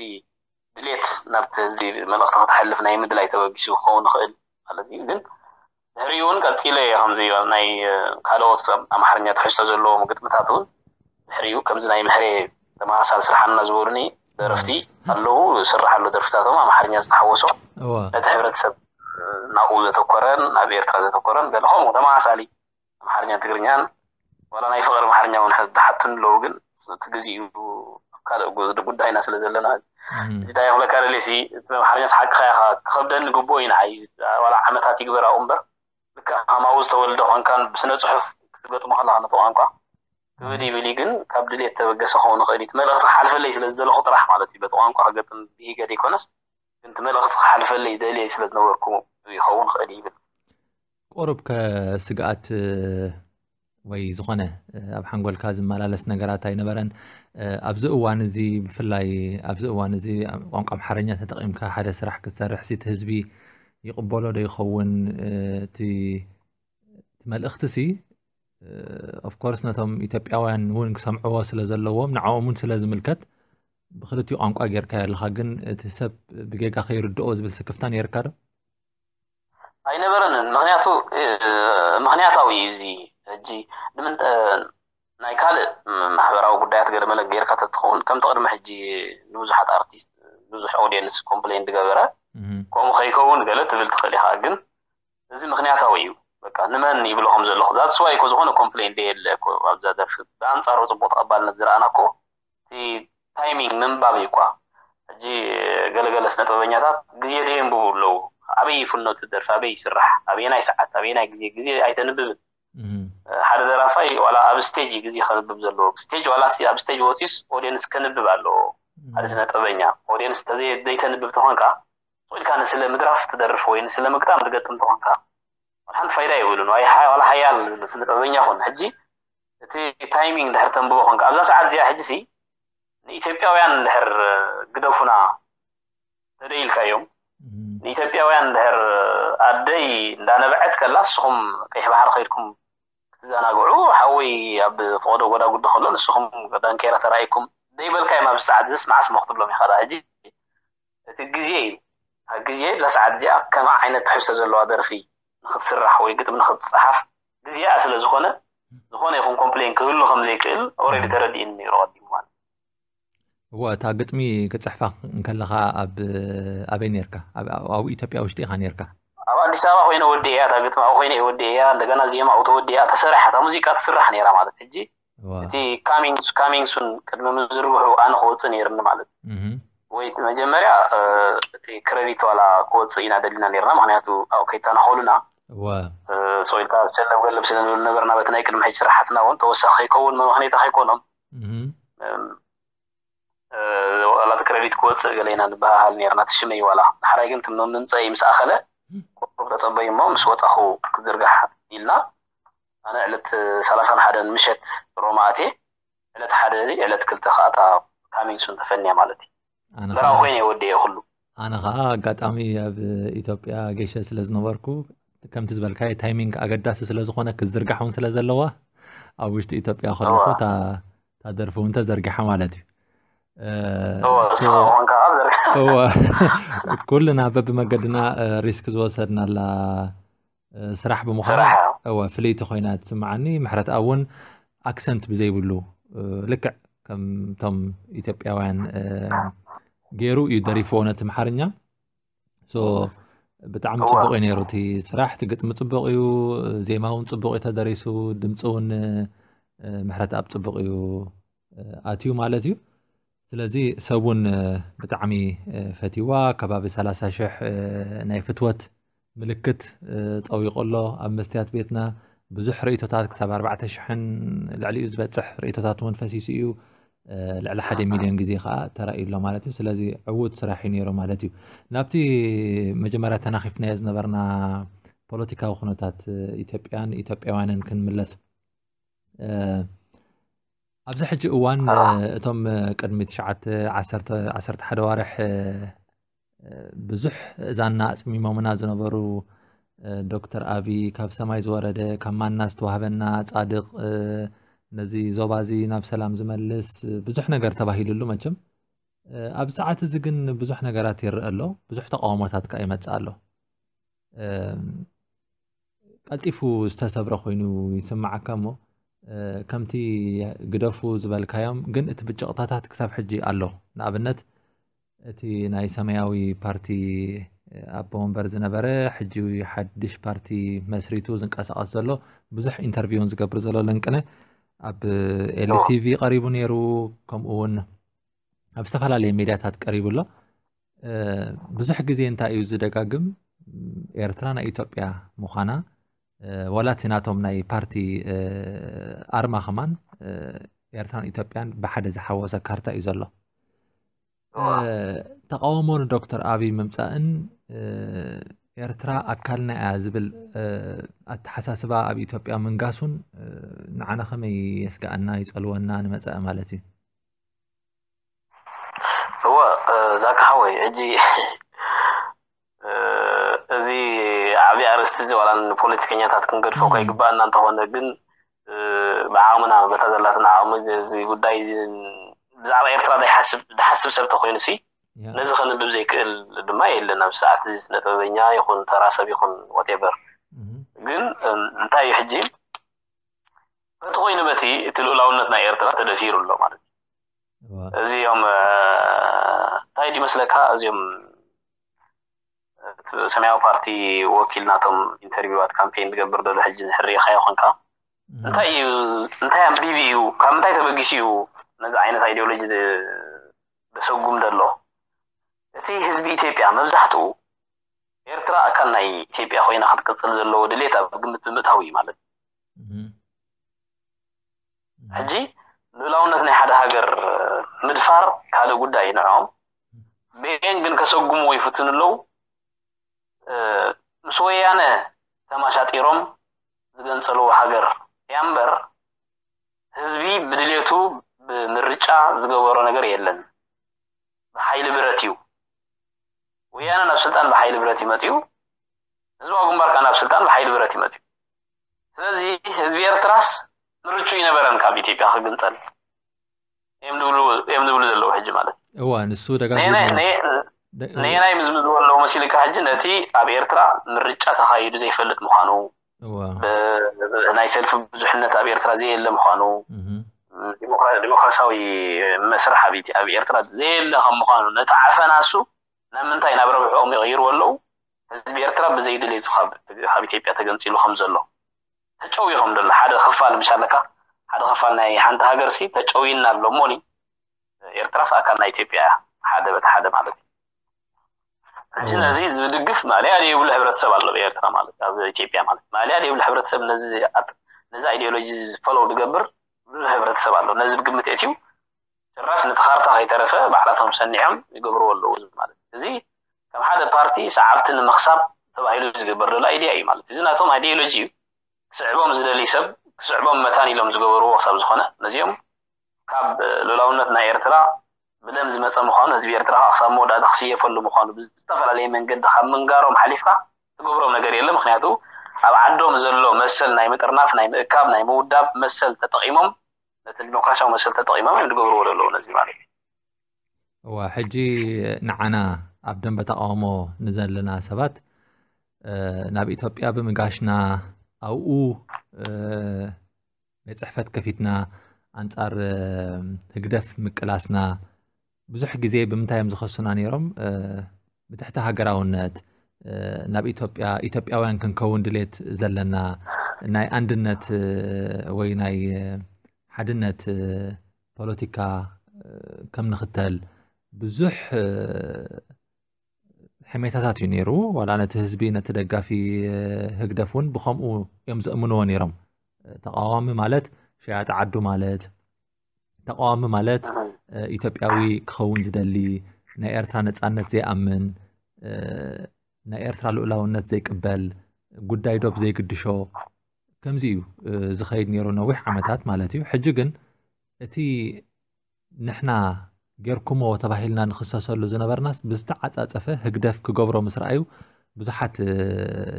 ድሌት ናብቲ ህዝቢ መልእኽቲ ከተሕልፍ ናይ ምድላይ ተበጊሱ ክኸውን ይኽእል ማለት እዩ ግን ድሕሪኡ እውን ቀፂለ እየ ከምዚ ናይ ካልኦት ኣምሓርኛ ትሕዝቶ ዘለዎም ግጥምታት እውን ድሕሪኡ ከምዚ ናይ ምሕሬ ተመሳሳሊ ስራሕ ኣለና ዝበሉኒ ደረፍቲ ኣለዉ። ስራሕ ኣሎ ደርፍታቶም ኣምሓርኛ ዝተሓወሶ ነቲ ሕብረተሰብ ናብኡ ዘተኮረን ናብ ኤርትራ ዘተኮረን ገለ ከምኡ ተመሳሳሊ ኣምሓርኛን ትግርኛን ዋላ ናይ ፍቕሪ ኣምሓርኛ እውን ዝሓቱን ኣለዉ። ግን እቲ ግዜኡ ካልእ ጉዳይና ስለ ዘለና እንታይ ክብለካ ደልየ ሲ እቲ ኣምሓርኛ ሓቅኻ ኢኻ ክኸብደኒ ግቡእ እዩ ንዓይ። ዋላ ዓመታት ይግበር ኣብኡ እምበር ልክዕ ከማኡ ዝተወልደ ኮንካን ብስነ ጽሑፍ ክትገጥሞ ከለኻ ነቲ ቋንቋ ክብድ ይብል እዩ። ግን ካብ ድልየት ተበገሰ ክኸውን ይኽእል እዩ። እቲ መልእኽቲ ክሓልፈለይ ስለ ዝደለኹ ጥራሕ ማለት እዩ። በቲ ቋንቋ ክገጥም ብሂገ ዘይኮነስ ግን እቲ መልእኽቲ ክሓልፈለይ ደልየ ስለ ዝነበርኩ ይኸውን ይኽእል ይብል። ቁሩብ ከስግኣት ወይ ዝኾነ ኣብ ሓንጎልካ ዝመላለስ ነገራት ኣይነበረን። ኣብዚ እዋን እዚ ብፍላይ ኣብዚ እዋን እዚ ቋንቋ ኣምሓርኛ ተጠቒምካ ሓደ ስራሕ ክትሰርሕ እቲ ህዝቢ ይቕበሎ ዶ ይኸውን? እቲ እቲ መልእኽቲ ሲ ኦፍኮርስ ነቶም ኢትዮጵያውያን እውን ክሰምዕዎ ስለ ዘለዎም ንዕኦም እውን ስለ ዝምልከት ብክልቲኡ ቋንቋ ጌርካዮ ኣለኻ። ግን እቲ ሰብ ብጌጋ ከይርድኦ ዝብል ስክፍታ ነይርካ ዶ? ኣይነበረንን። ምክንያቱ ምክንያታዊ እዩ እዚ። ሕጂ ንምንታይ ናይ ካልእ ማሕበራዊ ጉዳያት ገለ መለ ጌርካ ተትኸውን ከምቲ ቅድሚ ሕጂ ንብዙሓት ኣርቲስት ብዙሕ ኦዲየንስ ኮምፕሌን ዝገበረ ከምኡ ከይከውን ገለ ትብል ትኽእል ኢኻ። ግን እዚ ምክንያታዊ እዩ። በቃ ንመን ይብሎ ከም ዘለኹ that's why እኮ ዝኾነ ኮምፕሌን ደየለ እኮ ኣብዛ ደርፊ ብኣንጻሩ ጽቡቕ ተቐባልነት ዝረኣና እኮ እቲ ታይሚንግ ምንባብ እዩ እኳ። ሕጂ ገለገለ ስነ ጥበበኛታት ግዜ ደየንብቡ ኣለዉ። ኣበይ ይፍኖ እቲ ደርፊ ኣበይ ይስራሕ ኣበየናይ ሰዓት ኣበየናይ ግዜ ግዜ ኣይተንብብን። ሓደ ደራፋይ ዋላ ኣብ ስቴጅ ግዜ ከንብብ ዘለዎ ስቴጅ ዋላ ኣብ ስቴጅ ወፂስ ኦዲየንስ ከንብብ ኣለዎ። ሓደ ስነ ጥበበኛ ኦዲየንስ ዘይተንብብ ተኾንካ ስቕ ኢልካ ንስለ ምድራፍ ትደርፍ ወይ ንስለ ምግጣም ትገጥም ተኾንካ ሓንቲ ፋይዳ የብሉን። ዋላ ሓያል ስነ ጥበበኛ ኹን ሕጂ እቲ ታይሚንግ ድሕር ተንብቦ ኾንካ ኣብዛ ሰዓት እዚኣ ሕጂ ሲ ንኢትዮጵያውያን ድሕር ግደፉና ተደይልካዮም ንኢትዮጵያውያን ድሕር ኣደይ እንዳነበዐት ከላ ንስኹም ቀይሕ ባሕሪ ከይድኩም ክትዘናግዑ ሓወይ ኣብ ፈቐዶ ጎዳጉዲ ከሎ ንስኹም ዳንኬራ ተራኢኩም ደይበልካዮም ኣብዚ ሰዓት ዝስ መዓስ ሞ ክትብሎም ኢኻ ሕጂ እቲ ግዜ እዩ። ኣብ ግዜ እዛ ሰዓት እዚኣ ከማ ዓይነት ትሕዝቶ ዘለዋ ደርፊ ንክትስራሕ ወይ ግጥሚ ንክትፀሓፍ ግዜኣ ስለ ዝኾነ ዝኾነ ይኹን ኮምፕሌን ክህሉ ከም ዘይክእል ኦልሬዲ ተረዲእኒ ነይሩ ቀዲሙ ማለት እወ እታ ግጥሚ ክፅሕፋ እንከለኻ ኣብ ኣበይ ነርካ ኣብኡ ኢትዮጵያ ውሽጢ ኢኻ ነርካ ኣብ ኣዲስ ኣበባ ኮይነ ወዲእያ እታ ግጥሚ ኣብኡ ኮይነ ወዲእያ እንደገና ዜማ ኣብኡ ተወዲኣ ተሰሪሓ እታ ሙዚቃ ትስራሕ ነይራ ማለት ሕጂ እቲ coming soon ቅድሚ ምዝርግሑ ኣነ ክወፅእ ነይርኒ ማለት እዩ። ወይ መጀመርያ እቲ ክረዲት ዋላ ክወፅእ ኢና ደሊና ነርና ምክንያቱ ኣብኡ ከይተናኸሉና so ኢልካ ሸለብ ገለብ ስለ ንብል ነበርና በቲ ናይ ቅድሚ ሕጂ ስራሕትና እውን ተወሳኺ ከይከውን መመክነይታ ከይኮኖም ዋላ እቲ ክረዲት ክወፅእ ገለ ኢና ንበሃሃል ነርና እቲ ሽመይ ዋላ ዳሕራይ ግን እቲ ምምንፀኢ ምስ ኣኸለ ቁሩብ ተፀበዩ እሞ ምስ ወፃኹ ክትዝርጋሕ ኢልና ኣነ ዕለት ሰላሳን ሓደን ምሸት ሮማ ኣትየ ዕለት ሓደ ዕለት ክልተ ከዓ እታ coming soon ተፈንያ ማለት እዩ። በራዊ ኮይነ ወዲኤ ኩሉ። ኣነ ከዓ ኣጋጣሚ ኣብ ኢትዮጵያ ጌሸ ስለ ዝነበርኩ ከምቲ ዝበልካዮ ታይሚንግ ኣገዳሲ ስለ ዝኾነ ክዝርጋሕ እውን ስለ ዘለዋ ኣብ ውሽጢ ኢትዮጵያ ከለኹ እታ ደርፊ እውን ተዘርጊሓ ማለት እዩ። ኩልና በብመገድና ሪስክ ዝወሰድናላ ስራሕ ብምዃና እወ ፍልይቲ ኮይና ትስምዓኒ። ምሕረት እውን ኣክሰንት ብዘይብሉ ልክዕ ከምቶም ኢትዮጵያውያን ገይሩ እዩ ደሪፍዎ ነቲ ምሓርኛ። ብጣዕሚ ፅቡቅ እዩ ነይሩ እቲ ስራሕ። እቲ ግጥሚ ፅቡቅ እዩ፣ ዜማ እውን ፅቡቅ እዩ ተደሪሱ፣ ድምፂ እውን ምሕረት ኣብ ፅቡቅ እዩ ኣትዩ ማለት እዩ። ስለዚ ሰብ እውን ብጣዕሚ ፈትይዋ። ከባቢ ሰላሳ ሽሕ ናይ ፍትወት ምልክት ጠዊቑ ኣሎ ኣብ መስትያት ቤትና። ብዙሕ ርእይቶታት ክሳብ ኣርባዕተ ሽሕን ልዕሊኡ ዝበፅሕ ርእይቶታት እውን ፈሲሱ እዩ። ልዕሊ ሓደ ሚልዮን ግዜ ከዓ ተራእዩ ኣሎ ማለት እዩ። ስለዚ ዕዉት ስራሕ እዩ ነይሩ ማለት እዩ። ናብቲ መጀመርያ ተናኺፍናዮ ዝነበርና ፖለቲካዊ ኩነታት ኢትዮጵያን ኢትዮጵያውያንን ክንምለስ ኣብዚ ሕጂ እዋን እቶም ቅድሚ ትሽዓተ ዓሰርተ ዓሰርተ ሓደ ኣዋርሕ ብዙሕ እዛና ኣፅሚሞምና ዝነበሩ ዶክተር ኣቢ ካብ ሰማይ ዝወረደ ካብ ማና ዝተዋህበና ፃድቕ ነዚ ዞባ እዚ ናብ ሰላም ዝመልስ ብዙሕ ነገር ተባሂሉሉ መቸም ኣብዚ ሰዓት እዚ ግን ብዙሕ ነገራት ይረአ ኣሎ ብዙሕ ተቃውሞታት ከዓ ይመፅእ ኣሎ ቀልጢፉ ዝተሰብረ ኮይኑ ይስምዓካ እሞ፣ እ፣ ከምቲ ግደፉ ዝበልካዮም ግን እቲ ብጭቕታታት ክሳብ ሕጂ ኣሎ። ንኣብነት እቲ ናይ ሰማያዊ ፓርቲ ኣቦ ወንበር ዝነበረ፣ ሕጂ ሓድሽ ፓርቲ መስሪቱ ዝንቀሳቐስ ዘሎ፣ ብዙሕ ኢንተርቪውን ዝገብር ዘሎ ለንቅነ ኣብ ኤልቲቪ ቀሪቡ ነይሩ። ከምኡ እውን ኣብ ዝተፈላለየ ሚድያታት ቀሪቡ ኣሎ። እ፣ ብዙሕ ግዜ እንታይ እዩ ዝደጋግም? ኤርትራ ናይ ኢትዮጵያ ምዃና፣ እ፣ ዋላ እቲ ናቶም ናይ ፓርቲ፣ እ፣ ኣርማ ከማን፣ እ፣ ኤርትራን ኢትዮጵያን ብሓደ ዝሓወሰ ካርታ እዩ ዘሎ። እ፣ ተቃውሞ ንዶክተር ኣቢይ ምምጻእን፣ እ፣ ኤርትራ ኣካልና እያ ዝብል፣ እ፣ ኣተሓሳስባ ኣብ ኢትዮጵያ ምንጋሱን፣ እ፣ ንዓና ከመይ የስግኣና፣ ይጸልወና ንመጸ ማለት እዩ? እወ፣ እ፣ ዛካ ሓወይ፣ ሕጂ፣ እ፣ እዚ ዓብዪ ኣርእስቲ እዚ ዋላ ንፖለቲከኛታት ክንገድፎ እኮ ኣይግባኣና እንተኾነ ግን፣ እ፣ ብዓቕምና በታ ዘላትና ዓቕሚ እዚ ጉዳይ እዚ ብዛዕባ ኤርትራ ዘይሓስብ፣ ዝሓስብ ሰብ ተኾይኑ ሲ፣ ያ። ነዚ ከንብብ ዘይክእል ድማ የለን። ኣብ ሰዓት እዚ ስነ ጥበበኛ ይኹን ተራ ሰብ ይኹን whatever። እህ። ግን፣ እ፣ እንታይ እዩ ሕጂ? በቲ ኮይኑ በቲ እቲ ልኡላውነት ናይ ኤርትራ ተደፊሩ ኣሎ ማለት እዩ። እዋ። እዚኦም፣ እ፣ እንታይ ድዩ መስለካ? እዚኦም፣ እ፣ ሰማያዊ ፓርቲ ወኪል ናቶም ኢንተርቪዋት ካምፔን ዝገብር ዘሎ ሕጂ ንሕርኢኻዮ ኾንካ። እህ። እንታይ እዩ፣ እንታይ ኣንቢቢ እዩ፣ ካብ ምንታይ ተበጊሱ እዩ ነዚ ዓይነት ኣይዲዮሎጂ ዝ-፣ ዘሰጉም ዘሎ? እቲ ህዝቢ ኢትዮጵያ መብዛሕትኡ ኤርትራ ኣካል ናይ ኢትዮጵያ ኮይና ክትቅጽል ዘለዎ ድሌት ኣብ ግምት ብምእታው እዩ ማለት እዩ። እህ። ሕጂ ልኡላውነት ናይ ሓደ ሃገር ምድፋር ካልእ ጉዳይ እዩ ንዕኦም። ብኤን ግን ከሰጉምዎ ይፍትኑ ኣለዉ። እ፣ ምስ ወያነ ተማሻጢሮም ዝገንጸልዎ ሃገር እያ እምበር፣ ህዝቢ ብድሌቱ ብምርጫ ዝገበሮ ነገር የለን። ብሓይሊ ብረት እዩ። ወያነ ናብ ስልጣን ብሓይሊ ብረት እዩ መጺኡ። ህዝባዊ ግንባር ከኣ ናብ ስልጣን ብሓይሊ ብረት እዩ መጺኡ። ስለዚ ህዝቢ ኤርትራስ ምርጩ ይነበረን ካብ ኢትዮጵያ ክግንጸል እዮም ዝብሉ፣ እዮም ዝብሉ ዘለዉ ሕጂ ማለት እዩ። እዋ፣ ንሱ ደጋጊሙ ነየናይ፣ ነየ-፣ ደ-፣ ነየናይ ምዝምዝዎ ኣለዉ መሲልካ ሕጂ ነቲ ኣብ ኤርትራ ምርጫ ተኻይዱ ዘይፈልጥ ምዃኑ፣ እዋ። ብ-፣ ብ-፣ ናይ ሰልፊ ብዙሕነት ኣብ ኤርትራ ዘየለ ምዃኑ፣ እህ። ዲሞክራ-፣ ዲሞክራሲያዊ መስርሕ ኣብ ኢት-፣ ኣብ ኤርትራ ዘየለ ከም ምዃኑ፣ ነቲ ዓፈና እሱ ናብ ምንታይ፣ ናብ ረብሕኦም ይቕይርዎ ኣለዉ። ህዝቢ ኤርትራ ብዘይ ድሌቱ ካብ፣ ካብ ኢትዮጵያ ተገንጺሉ ከም ዘሎ ተጨውዩ ከም ዘሎ፣ ሓደ ክፋል ምሽ ኣለካ፣ ሓደ ክፋል ናይ ሓንቲ ሃገር ሲ ተጨውይና ኣሎ እሞኒ፣ ኤርትራስ ኣካል ናይ ኢትዮጵያ እያ፣ ሓደ በቲ ሓደ ማለት እዩ። ሕጂ እዎ። ነዚ ዝድግፍ ማእለያ ዘይብሉ ሕብረተሰብ ኣሎ ኣብ ኤርትራ ማለት፣ ኣብ ኢትዮጵያ ማለት። ማእለያ ዘይብሉ ሕብረተሰብ ነዚ ኣት-፣ ነዚ ኣይዲዮሎጂ ዝፈለው ዝገብር ብዙሕ ሕብረተሰብ ኣሎ። ነዚ ብግምት እትዩ ጭራሽ ነቲ ካርታ ከይተረፈ ባዕላቶም ሰኒዖም ይገብርዎ ኣለዉ ማለት እዩ። እዚ ከም ሓደ ፓርቲ ሰዓብቲ ንምኽሳብ ተባሂሉ ዝግበር ዘሎ ኣይድያ እዩ ማለት እዩ። እዚ ናቶም ኣይዲዮሎጂ እዩ። ክስዕቦም ዝደሊ ሰብ ክስዕቦም መታን ኢሎም ዝገበርዎ ክሳብ ዝኾነ ነዚኦም ካብ ልኡላውነት ናይ ኤርትራ ብደም ዝመጸ ምዃኑ፣ ህዝቢ ኤርትራ ከዓ ክሳብ መወዳእታ ክስየፈሉ ምዃኑ ብዝተፈላለየ መንገዲ ካብ ምንጋሮም ሓሊፍካ ትገብሮም ነገር የለ። ምኽንያቱ ኣብ ዓዶም ዘሎ መሰል ናይ ምጥርናፍ፣ ናይ ምእካብ፣ ናይ ምውዳብ መሰል ተጠቒሞም፣ ነቲ ዲሞክራሲያዊ መሰል ተጠቒሞም እዮም ዝገብርዎ ዘለዉ ነዚ ማለት እዩ። እዋ፣ ሕጂ ንዓና ኣብ ደንበ ተቃውሞ ንዘለና ሰባት፣ እ፣ ናብ ኢትዮጵያ ብምጋሽና፣ ኣብኡ፣ እ፣ ቤት ጽሕፈት ከፊትና ኣንጻር፣ እ፣ ህግደፍ ምቅላስና ብዙሕ ግዜ ብምንታይ እዮም ዝኸሱና ነይሮም? እ፣ ብትሕቲ ሃገራውነት፣ እ፣ ናብ ኢትዮጵያ፣ ኢትዮጵያውያን ክንከውን ድሌት ዘለና፣ ናይ ኣንድነት፣ እ፣ ወይ ናይ፣ እ፣ ሓድነት፣ እ፣ ፖለቲካ፣ እ፣ ከም ንኽተል ብዙሕ፣ እ፣ ሕሜታታት እዩ ነይሩ። ዋላ ነቲ ህዝቢ፣ ነቲ ደጋፊ፣ እ፣ ህግደፍ እውን ብኸምኡ እዮም ዘእምንዎ ነይሮም። ተቃዋሚ ማለት ሸያጢ ዓዱ ማለት፣ ተቃዋሚ ማለት፣ እ፣ ኢትዮጵያዊ ክኸውን ዝደሊ፣ ናይ ኤርትራ ነጻነት ዘይኣምን፣ እ፣ ናይ ኤርትራ ልኡላውነት ዘይቅበል፣ ጉዳይ ዶብ ዘይግድሾ፣ ከምዚ እዩ፣ እ፣ ዝኸይድ ነይሩ ነዊሕ ዓመታት ማለት እዩ። ሕጂ ግን እቲ ንሕና ጌርኩሞ ተባሂልና ንኽሰሰሉ ዝነበርናስ ብዝተዓጻጸፈ ህግደፍ ክገብሮ ምስ ረኣዩ ብዙሓት፣ እ፣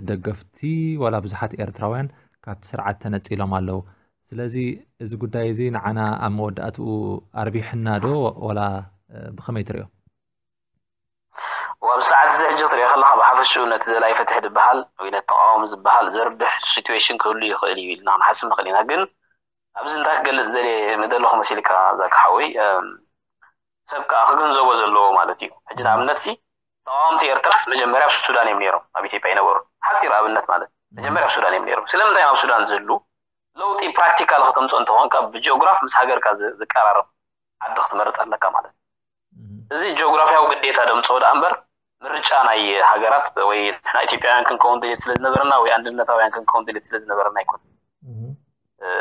ደገፍቲ ዋላ ብዙሓት ኤርትራውያን ካብቲ ስርዓት ተነጺሎም ኣለዉ። ስለዚ እዚ ጉዳይ እዚ ንዓና ኣብ መወዳእትኡ ኣርቢሕና ዶ ዋላ፣ እ፣ ብኸመይ ትርእዮ? ወኣብ ሰዓት እዚ ሕጂ ክትሪኦ ከለኻ ብሓፈሽኡ ነቲ ደላይ ፍትሒ ዝበሃል ወይ ነቲ ተቃዋሚ ዝበሃል ዘርብሕ ሲትዌሽን ክህሉ ይኽእል እዩ ኢልና ክንሓስብ ንኽእል ኢና። ግን ኣብዚ እንታይ ክገልጽ ደልየ ምደለኹ መሲልካ ዛካ ሓወይ፣ እም፣ ሰብ ከኣ ክግንዘቦ ዘለዎ ማለት እዩ። ሕጂ ንኣብነት ሲ ተቃወምቲ ኤርትራስ መጀመርያ ኣብ ሱዳን እዮም ነይሮም፣ ኣብ ኢትዮጵያ ኣይነበሩ። ሓፂር ኣብነት ማለት መጀመርያ ኣብ ሱዳን እዮም ነይሮም። ስለምንታይ እዮም ኣብ ሱዳን ዝህሉ? ለውጢ ፕራክቲካል ከተምፅኦ እንተኾንካ ብጂኦግራፍ ምስ ሃገርካ ዝ- ዝቀራረብ ዓዲ ክትመርፅ ኣለካ ማለት እዩ። እዚ ጂኦግራፊያዊ ግዴታ ደምፅኦ ደኣ እምበር ምርጫ ናይ ሃገራት ወይ ንሕና ኢትዮጵያውያን ክንከውን ድሌት ስለ ዝነበረና ወይ ኣንድነታውያን ክንከውን ድሌት ስለ ዝነበረና ኣይኮነን።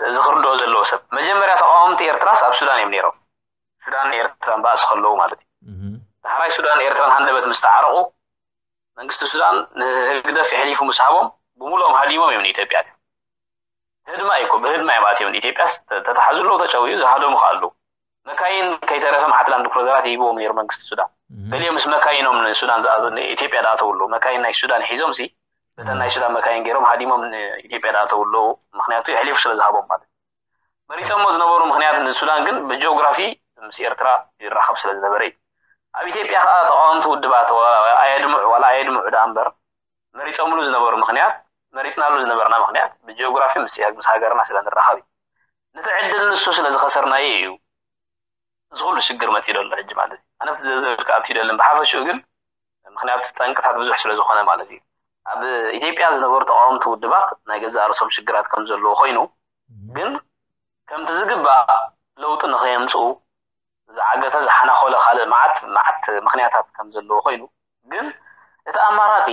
እዚ ክርድኦ ዘለዎ ሰብ መጀመርያ ተቃወምቲ ኤርትራስ ኣብ ሱዳን እዮም ነይሮም። ሱዳን ኤርትራን ባእሲ ከለዉ ማለት እዩ። ዳሕራይ ሱዳን ኤርትራን ሃንደበት ምስ ተዓረቑ መንግስቲ ሱዳን ንህግደፍ የሕሊፉ ምስ ሃቦም ብምሉኦም ሃዲሞም እዮም ንኢትዮጵያ። ህድማ እዩ እኮ ብህድማ እዮም ኣትዮም ንኢትዮጵያስ ተ- ተታሓዙ ኣለዉ ተጨውዩ ዝሃደሙ ከ ኣለዉ። መካይን ከይተረፈ መዓት ላንድ ክሩዘራት ይህብዎም ነይሩ መንግስቲ ሱዳን። ገሊኦም ምስ መካይኖም ንሱዳን ዝኣ- ንኢትዮጵያ ዝኣተዉ ኣለዉ። መካይን ናይ ሱዳን ሒዞም ሲ በተን ናይ ሱዳን መካይን ገይሮም ሃዲሞም ንኢትዮጵያ ዝኣተዉ ኣለዉ። ምክንያቱ የሕሊፉ ስለ ዝሃቦም ማለት እዩ። መሪፀሞ ዝነበሩ ምክንያት ንሱዳን ግን ብጂኦግራፊ ምስ ኤርትራ ይራኸብ ስለ ዝነበረ እዩ። ኣብ ኢትዮጵያ ከዓ ተቃወምቲ ውድባት ዋላ ኣየድምዑ ዋላ ኣየድምዑ ደኣ እምበር መሪፀምሉ ዝነበሩ ምክንያት መሪፅናሉ ዝነበርና ምክንያት ብጂኦግራፊ ምስ ምስ ሃገርና ስለ ንራኸብ እዩ። ነቲ ዕድል ንሱ ስለ ዝኸሰርናዮ እዩ እዚ ኩሉ ሽግር መፂኡ ዘሎ ሕጂ ማለት እዩ። ኣነ ኣብቲ ዝርዝር ክኣቱ ይደልን ብሓፈሽኡ ግን ምክንያቱ ጠንቅታት ብዙሕ ስለ ዝኾነ ማለት እዩ። ኣብ ኢትዮጵያ ዝነበሩ ተቃወምቲ ውድባት ናይ ገዛእ ርእሶም ሽግራት ከም ዘለዎ ኮይኑ ግን ከምቲ ዝግባእ ለውጢ ንኸየምፅኡ ዝዓገተ ዝሓናኾለ ካልእ መዓት መዓት ምክንያታት ከም ዘለዎ ኮይኑ ግን እቲ ኣማራፂ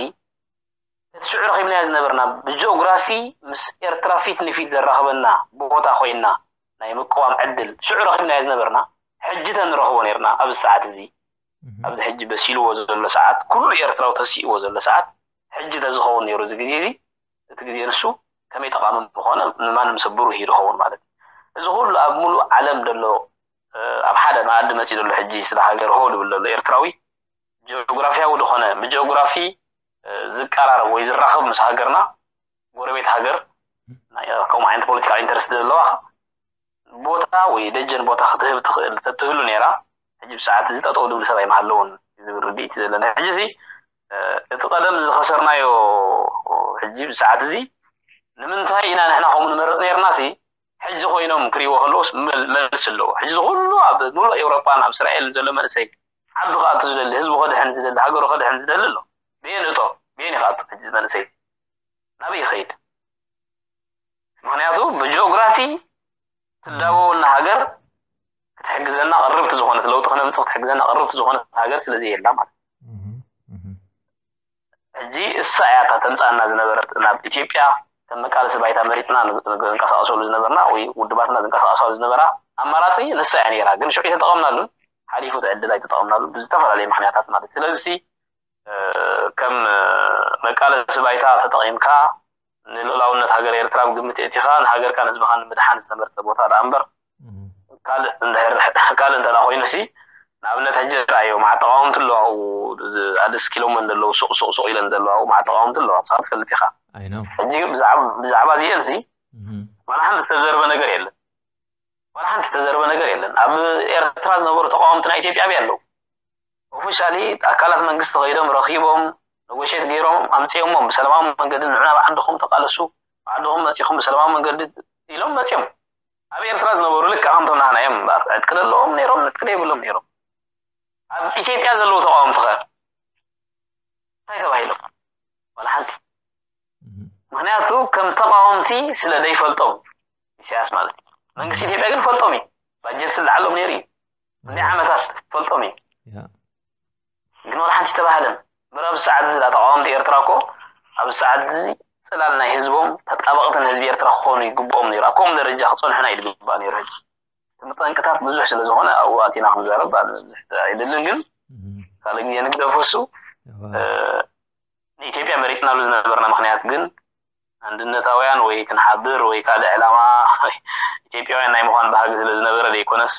እቲ ሽዑ ረኺብናዮ ዝነበርና ብጂኦግራፊ ምስ ኤርትራ ፊት ንፊት ዘራኽበና ቦታ ኮይና ናይ ምቅዋም ዕድል ሽዑ ረኺብናዮ ዝነበርና ሕጂ ተንረኽቦ ነርና ኣብዚ ሰዓት እዚ ኣብዚ ሕጂ በሲልዎ ዘሎ ሰዓት ኩሉ ኤርትራዊ ተሲእዎ ዘሎ ሰዓት ሕጂ ተዝኸውን ነይሩ እዚ ግዜ እዚ እቲ ግዜ ንሱ ከመይ ጠቓሚ ምኾነ ንማንም ሰብ ብሩህ እዩ ዝኸውን ማለት እዩ። እዚ ኩሉ ኣብ ሙሉእ ዓለም ዘሎ ኣብ ሓደ መኣዲ መፂኡ ዘሎ ሕጂ ስለ ሃገር ሆ ዝብል ዘሎ ኤርትራዊ ጂኦግራፊያዊ ዝኾነ ብጂኦግራፊ ዝቀራረብ ወይ ዝራኸብ ምስ ሃገርና ጎረቤት ሃገር ከምኡ ዓይነት ፖለቲካል ኢንተረስት ዘለዋ ቦታ ወይ ደጀን ቦታ ክትህብ ትኽእል ተትህሉ ነይራ ሕጂ ብሰዓት እዚ ጠጠው ዝብል ሰብ ኣይምሃለውን ዝብል ርድኢት ዘለና ሕጂ እዚ እቲ ቀደም ዝኸሰርናዮ ሕጂ ብሰዓት እዚ ንምንታይ ኢና ንሕና ከምኡ ንመረፅ ነርና ሲ ሕጂ ኮይኖም ክሪእዎ ከለውስ መልሲ ኣለዎ ሕጂ ዝኩሉ ኣብ ሙሉእ ኤውሮጳን ኣብ እስራኤል ዘሎ መንእሰይ ዓዱ ክኣቱ ዝደሊ ህዝቡ ከድሕን ዝደሊ ሃገሩ ከድሕን ዝደሊ ኣሎ ብየን እቶ ብየን ይክኣቱ ሕጂ መንእሰይ ናበይ ይኸይድ ምክንያቱ ብጂኦግራፊ ትዳበወልና ሃገር ክትሕግዘና ቅርብቲ ዝኾነት ለውጢ ክነምፅእ ክትሕግዘና ቅርብቲ ዝኾነት ሃገር ስለዘየላ ማለት ሕጂ እሳ እያ እታ ተምፃና ዝነበረት ናብ ኢትዮጵያ ከም መቃለሲ ባይታ መሪፅና ዝንቀሳቀሰሉ ዝነበርና ወይ ውድባትና ዝንቀሳቀሳሉ ዝነበራ ኣማራፂ ንሳ እያ ነይራ ግን ሽዑ ተጠቐምናሉን ሓሊፉ እቲ ዕድል ኣይተጠቐምናሉ ብዝተፈላለየ ምክንያታት ማለት ስለዚ ከም መቃለሲ ባይታ ተጠቒምካ ንልኡላውነት ሃገር ኤርትራ ብግምት የእቲኻ ንሃገርካ ንህዝብኻ ንምድሓን ዝተመርፀ ቦታ ደኣ እምበር ካልእ እንተ ኮይኑ ሲ ንኣብነት ሕጂ ርኣዮ መዓት ተቃወምቲ ኣለዉ ኣብኡ ኣደስኪሎሞ ዘለዉ ሱቕ ሱቕ ሱቕ ኢለን ዘለዋ ኣብኡ መዓት ተቃወምቲ ኣለዋ ንስኻ ትፈልጥ ኢኻ ሕጂ ብዛዕባ እዚአን ሲ ዋላ ሓንቲ ዝተዘርበ ነገር የለን ዋላ ሓንቲ ዝተዘርበ ነገር የለን ኣብ ኤርትራ ዝነበሩ ተቃወምቲ ናይ ኢትዮጵያ ኣብያ ኣለዉ ኦፊሻሊ ኣካላት መንግስቲ ከይዶም ረኺቦም ነጎሼት ገይሮም ኣምፅኦሞም ብሰላማዊ መንገዲ ንዑ ናብ ዓድኹም ተቃለሱ ዓድኹም መፂኹም ብሰላማዊ መንገዲ ኢሎም መፅኦም ኣብ ኤርትራ ዝነበሩ ልክዕ ከምቶም ናህና እዮም እምበር ዕጥቂ ዘለዎም ነይሮም ዕጥቂ ዘይብሎም ነይሮም ኣብ ኢትዮጵያ ዘለዉ ተቃወምቲ ከ እንታይ ተባሂሎም ዋላ ሓንቲ ምክንያቱ ከም ተቃወምቲ ስለ ዘይፈልጦም ኢሳያስ ማለት እዩ መንግስቲ ኢትዮጵያ ግን ፈልጦም እዩ ባጀት ስለዓሎም ነይሩ እዩ እንዲ ዓመታት ፈልጦም እዩ ግን ዋላ ሓንቲ ተባህለን በር ኣብ ሰዓት እዚ ተቃወምቲ ኤርትራ እኮ ኣብ ሰዓት እዚ ፅላል ናይ ህዝቦም ተጣበቕቲ ንህዝቢ ኤርትራ ክኾኑ ይግብኦም ነይሩ ኣብ ከምኡ ደረጃ ክፀንሑና እዩ ዝግባእ ነይሩ ሕጂ እቲ መጠንቅታት ብዙሕ ስለ ዝኾነ ኣብኡ ኣቲና ክንዛረብ ኣይደልን ግን ካልእ ግዜ ንግደፎ እሱ ንኢትዮጵያ መሪፅናሉ ዝነበርና ምክንያት ግን ኣንድነታውያን ወይ ክንሓብር ወይ ካልእ ዕላማ ኢትዮጵያውያን ናይ ምዃን ባህጊ ስለ ዝነበረ ዘይኮነስ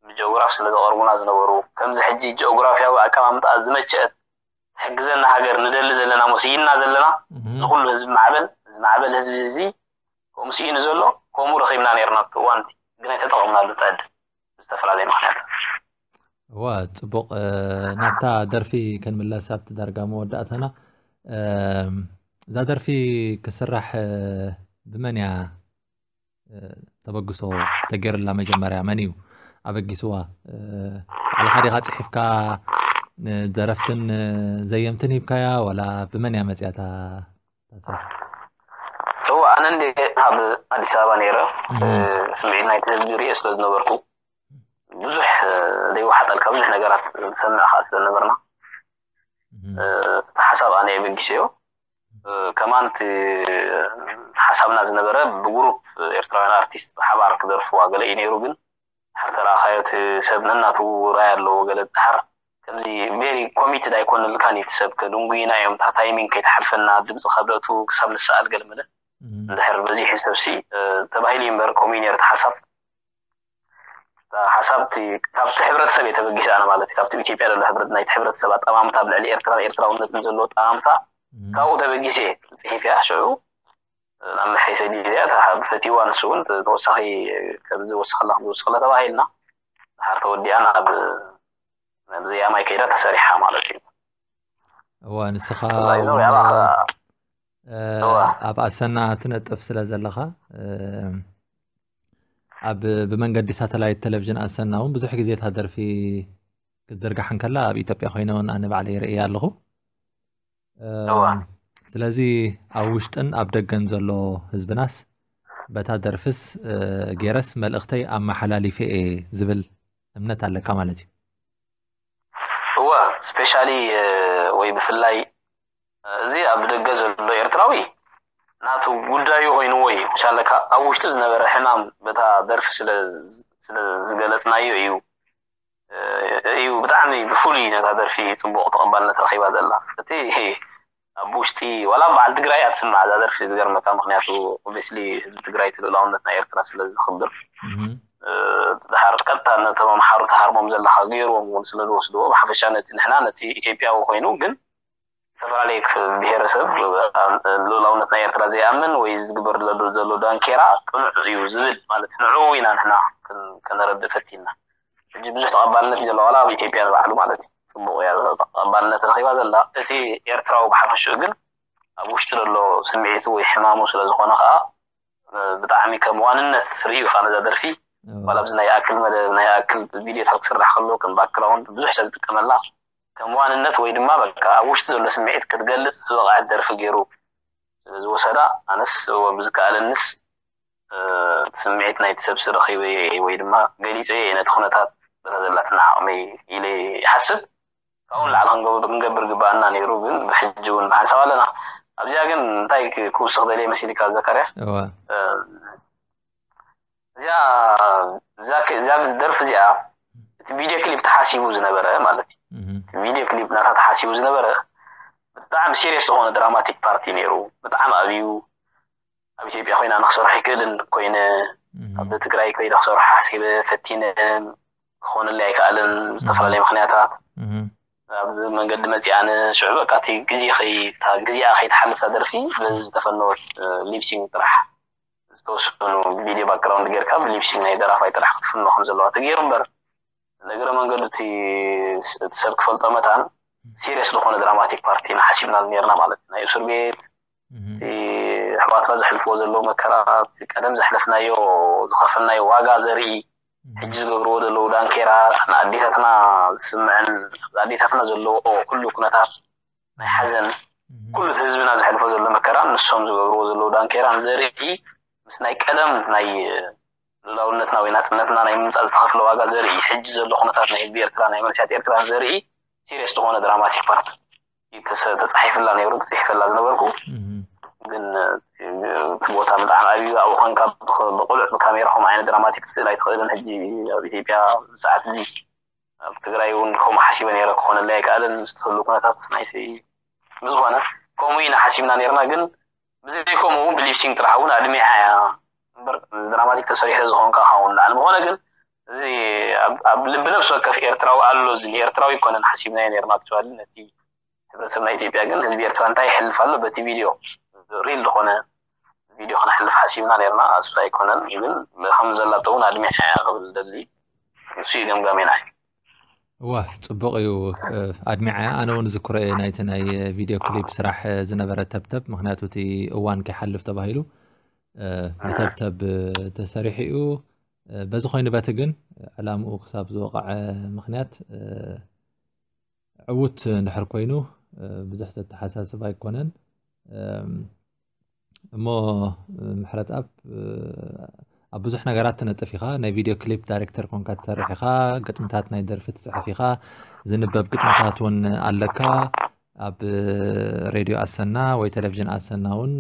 ብጂኦግራፍ ስለ ዘቐርቡና ዝነበሩ ከምዚ ሕጂ ጂኦግራፍያዊ ኣቀማምጣ ዝመቸአት ትሕግዘና ሃገር ንደሊ ዘለና ሞ ስኢንና ዘለና ንኩሉ ህዝቢ ማዕበል ዝማዕበል ህዝቢ እዚ ከምኡ ስኢኑ ዘሎ ከምኡ ረኺብና ነርና ኣብቲ እዋንቲ ግን ኣይተጠቐምናሉ ተዕድል ብዝተፈላለየ ምክንያት እዋ፣ ጽቡቕ። እ፣ ናብታ ደርፊ ክንምለስ፣ ኣብቲ ዳርጋ መወዳእታና። እም፣ እዛ ደርፊ ክስራሕ፣ እ፣ ብመን እያ፣ እ፣ ተበግሶ ተገይርላ? መጀመርያ መን እዩ ኣበጊስዋ? እ፣ ባዕልኻ ዲኻ ጽሒፍካ፣ ንደረፍትን፣ እ፣ ዘየምትን ሂብካያ፣ ዋላ ብመን እያ መጽያታ? እዋ፣ ኣነ እንደ ኣብ ኣዲስ ኣበባ ነይረ፣ እም። እ፣ ስምዒት ናይቲ ህዝቢ ርእየ ስለ ዝነበርኩ፣ ብዙሕ፣ እ፣ ዘይወሓጠልካ ብዙሕ ነገራት ዝሰምዕ ከዓ ስለ ነበርና፣ እም። እ፣ እቲ ሓሳብ ኣነ የበጊሰዮ። እ፣ ከማን እቲ ሓሳብና ዝነበረ ብግሩፕ ኤርትራውያን ኣርቲስት ብሓባር ክደርፍዋ ገለ እዩ ነይሩ፣ ግን ድሓር ተረኣኻዮ እቲ ሰብ ነናቱ ራይ ኣለዎ። ገለ ድሓር ከምዚ ቬሪ ኮሚትድ ኣይኮነልካን እዩ። እቲ ሰብ ከድንጉይና እዮም፣ እታ ታይሚንግ ከይትሓልፈና፣ ድምፂ ካብ ደእቱ ክሳብ ንሰኣል ገለ መለ። እም። እንድሕር በዚሑ ሰብሲ፣ እ፣ ተባሂሉ እዩ እምበር፣ ከምኡ እዩ ነይሩ እቲ ሓሳብ። እታ ሓሳብ እቲ፣ ካብቲ ሕብረተሰብ እየ ተበጊሰ ኣነ ማለት እዩ። ካብቲ ኣብ ኢትዮጵያ ዘሎ ሕብረት፣ ናይቲ ሕብረተሰብ ኣጠማምታ ኣብ ልዕሊ ኤርትራን ኤርትራውነትን ዘለዎ ኣጠማምታ፣ እም። ካብኡ ተበጊሰ እየ ጽሒፈያ። ሽዑ ናብ መሐይሰ ጊዜ እታ ብፈቲዋ ንሱ እውን ተወሳኺ፣ ከምዚ ወስኸላ፣ ከምዚ ወስኸላ ተባሂልና፣ ድሓር ተወዲኣ ናብ፣ ናብ ዘያማይ ከይዳ ተሰሪሓ ማለት እዩ። እዋ፣ ንስኻ ተዛይዞ እውን፣ ያባ፣ እ፣ እዋ። ኣብ ኣሰና ትነጥፍ ስለ ዘለኻ፣ እ፣ ኣብ፣ ብመንገዲ ሳተላይት ቴሌቪዥን ኣሰና እውን ብዙሕ ግዜ እታ ደርፊ ክትዝርጋሕ እንከላ፣ ኣብ ኢትዮጵያ ኮይነ እውን ኣነ ባዕለይ ርእየ ኣለኹ። እ፣ እዋ። ስለዚ ኣብ ውሽጥን ኣብ ደገን ዘሎ ህዝብናስ በታ ደርፍስ፣ እ፣ ገይረስ መልእኽተይ ኣመሓላሊፈ እየ ዝብል እምነት ኣለካ ማለት እዩ። እወ፣ ስፔሻሊ፣ እ፣ ወይ ብፍላይ፣ እ፣ እዚ ኣብ ደገ ዘሎ ኤርትራዊ ናቱ ጉዳዩ ኮይንዎ እዩ። ምሻለካ ኣብ ውሽጡ ዝነበረ ሕማም በታ ደርፊ ስለ፣ ስለ ዝገለጽናዮ እዩ፣ እ፣ እዩ ብጣዕሚ ብፍሉይ ነታ ደርፊ ጽቡቕ ተቐባልነት ረኺባ ዘላ። እቲ ኣብ ውሽጢ ዋላ በዓል ትግራይ እያ ትስማዕ እዛ ደርፊ፣ ዝገርመካ። ምኽንያቱ ኦብቪስሊ ህዝቢ ትግራይ እቲ ልኡላውነት ናይ ኤርትራ ስለ ዝኽብር፣ እህ። እ፣ ድሓር ቀጥታ ነቶም ኣምሓሩ ተሃርሞም ዘለኻ ገይርዎም እውን ስለ ዝወስድዎ፣ ብሓፈሻ ነቲ ንሕና ነቲ ኢትዮጵያዊ ኮይኑ ግን ዝተፈላለየ ክፍ-፣ ብሄረሰብ፣ እ፣ ልኡላውነት ናይ ኤርትራ ዘይኣምን ወይ ዝግበር ዘሎ፣ ዘሎ ዳንኬራ ቅኑዕ እዩ ዝብል ማለት ንዕኡ ኢና ንሕና ክን-፣ ከነረድእ ፈቲና። ሕጂ ብዙሕ ተቐባልነት እዩ ዘለዎ፣ ዋላ ኣብ ኢትዮጵያ ንባዕሉ ማለት እዩ። ጽቡቕ እያ ተቐባልነት ረኺባ ዘላ። እቲ ኤርትራዊ ብሓፈሽኡ ግን ኣብ ውሽጢ ዘሎ ስምዒቱ ወይ ሕማሙ ስለ ዝኾነ ከኣ፣ እ፣ ብጣዕሚ ከም ዋንነት ርእዩ ከኣ ነዛ ደርፊ፣ እዎ። ዋላ ኣብዚ ናይ ኣክል መደ-፣ ናይ ኣክል ቪድዮታት ክስራሕ ከሎ ከም ባክግራውንድ ብዙሕ ሰብ ዝጥቀመላ ከም ዋንነት ወይ ድማ በቃ ኣብ ውሽጢ ዘሎ ስምዒት ክትገልጽ ዝበቕዐት ደርፊ ገይሩ ስለ ዝወሰዳ፣ ኣነስ እዎ ብዝከኣለንስ፣ እ፣ ስምዒት ናይቲ ሰብሲ ረኺበዮ እየ ወይ ድማ ገሊጸዮ እየ ነቲ ኩነታት በታ ዘላትና ዓቕመይ ኢለ ይሓስብ። ካብኡ ንላዕሊ ክንገብር፣ ክንገብር ግባኣና ነይሩ፣ ግን ብሕጂ እውን ብሓንሳብ ኣለና። ኣብዚኣ ግን እንታይ ክ-፣ ክውስኽ ደልየ መሲልካ ዘካርያስ? እወ። እ፣ እዚኣ፣ እዛ ክ-፣ እዛ ደርፊ እዚኣ እቲ ቪድዮ ክሊፕ ተሓሲቡ ዝነበረ ማለት እዩ። እህ። እቲ ቪድዮ ክሊፕ ናታ ተሓሲቡ ዝነበረ ብጣዕሚ ሲሪየስ ዝኾነ ድራማቲክ ፓርቲ ነይሩ። ብጣዕሚ ኣብዩ ኣብ ኢትዮጵያ ኮይነ ኣነ ክሰርሖ ኣይክእልን ኮይነ፣ እህ። ኣብ ትግራይ ኮይነ ክሰርሖ ሓሲበ ፈቲነ፣ ክኾነለይ ኣይከኣለን ብዝተፈላለየ ምኽንያታት። እህ። ኣብ መንገዲ መፂኣነ ሽዑ በቃ እቲ ግዜ ከይ-፣ እታ ግዜኣ ከይትሓልፍ እታ ደርፊ በዚ ዝተፈነወት፣ እ፣ ሊፕሲንግ ጥራሕ ዝተወሰኑ ቪድዮ ባክግራውንድ ጌርካ ብሊፕሲንግ ናይ ደራፋይ ጥራሕ ክትፍኖ ከም ዘለዋ ተገይሩ እምበር፣ ንእግረ መንገዱ እቲ ስ-፣ እቲ ሰብ ክፈልጦ መታን ሲሪየስ ዝኾነ ድራማቲክ ፓርቲ ኢና ሓሲብናሉ ኔርና ማለት እዩ። ናይ እስር ቤት፣ እህ። እቲ ኣሕዋትና ዘሕልፍዎ ዘለዉ መከራ፣ እቲ ቀደም ዘሕለፍናዮ፣ ዝኸፈልናዮ ዋጋ ዘርኢ፣ እህ። ሕጂ ዝገብርዎ ዘለዉ ዳንኬራ፣ ንኣዴታትና ዝስምዐን፣ ኣብ ኣዴታትና ዘለዎ ኩሉ ኩነታት ናይ ሓዘን፣ እህ። ኩሉ እቲ ህዝብና ዘሕልፎ ዘሎ መከራን ንሶም ዝገብርዎ ዘለዉ ዳንኬራን ዘርኢ፣ ምስ ናይ ቀደም ናይ ልኡላውነትና ወይ ናጽነትና ናይ ምምጻእ ዝተኸፍለ ዋጋ ዘርኢ፣ ሕጂ ዘሎ ኩነታት ናይ ህዝቢ ኤርትራ፣ ናይ መንእሰያት ኤርትራን ዘርኢ ሲሪየስ ዝኾነ ድራማቲክ ፓርት እዩ ተሰ-፣ ተጻሒፍላ ነይሩ፣ ተጽሒፈላ ዝነበርኩ። እህ። ግን፣ እ፣ እቲ ቦታ ብጣዕሚ ኣብዩ ኣብኡ ኮንካ ብኸ-፣ ብቕሉዕ ብካሜራ ከምኡ ዓይነት ድራማቲክ ክትስእል ኣይትኽእልን። ሕጂ ኣብ ኢትዮጵያ ሰዓት እዚ ኣብ ትግራይ እውን ከምኡ ሓሲበ ነይረ፣ ክኾነለይ ኣይከኣለን ምስ ትህሉ ኩነታት ናይቲ። ብዝኾነ ከምኡ ኢና ሓሲብና ነይርና፣ ግን ብዘይ ከምኡ እውን ብሊፕሲንግ ጥራሕ እውን ኣድሚዓ እያ እምበር፣ እዚ ድራማቲክ ተሰሪሑ ዝኾንካ ክኸውን ላዕሊ። ዝኾነ ግን እዚ ኣብ፣ ኣብ ልቢ ነፍሲ ወከፍ ኤርትራዊ ኣሎ፣ እዚ ንኤርትራዊ ኣይኮነን ሓሲብናዮ ነይርና። ኣክቹዋሊ ነቲ ሕብረተሰብ ናይ ኢትዮጵያ ግን ህዝቢ ኤርትራ እንታይ ይሕልፍ ኣሎ በቲ ቪድዮ፣ ሪል ዝኾነ ቪድዮ ክነሕልፍ ሓሲብና ነይርና። እሱ ኣይኮነን ግን ከም ዘላቶ እውን ኣድሚዓ እያ ክብል ደሊ። እሱ እዩ ገምጋሜ ናይ። እዋ፣ ጽቡቕ እዩ። ኣድሚዐያ። ኣነ እውን ዝክሮ እየ ናይቲ ናይ ቪድዮ ክሊፕ ስራሕ ዝነበረ ተብተብ፣ ምክንያቱ እቲ እዋን ከይሓልፍ ተባሂሉ ብተብተብ ተሰሪሑ እዩ። በዚ ኮይኑ በቲ ግን ዕላምኡ ክሳብ ዝወቕዐ ምክንያት ዕዉት እንድሕር ኮይኑ ብዙሕ ዘተሓሳስብ ኣይኮነን። እሞ ምሕረት ኣብ ኣብ ብዙሕ ነገራት ትነጥፍ ኢኻ። ናይ ቪድዮ ክሊፕ ዳይሬክተር ኮንካ ትሰርሕ ኢኻ። ግጥምታት ናይ ደርፊ ትፅሕፍ ኢኻ። ዝንበብ ግጥምታት እውን ኣለካ። ኣብ ሬድዮ ኣሰና ወይ ቴሌቪዥን ኣሰና እውን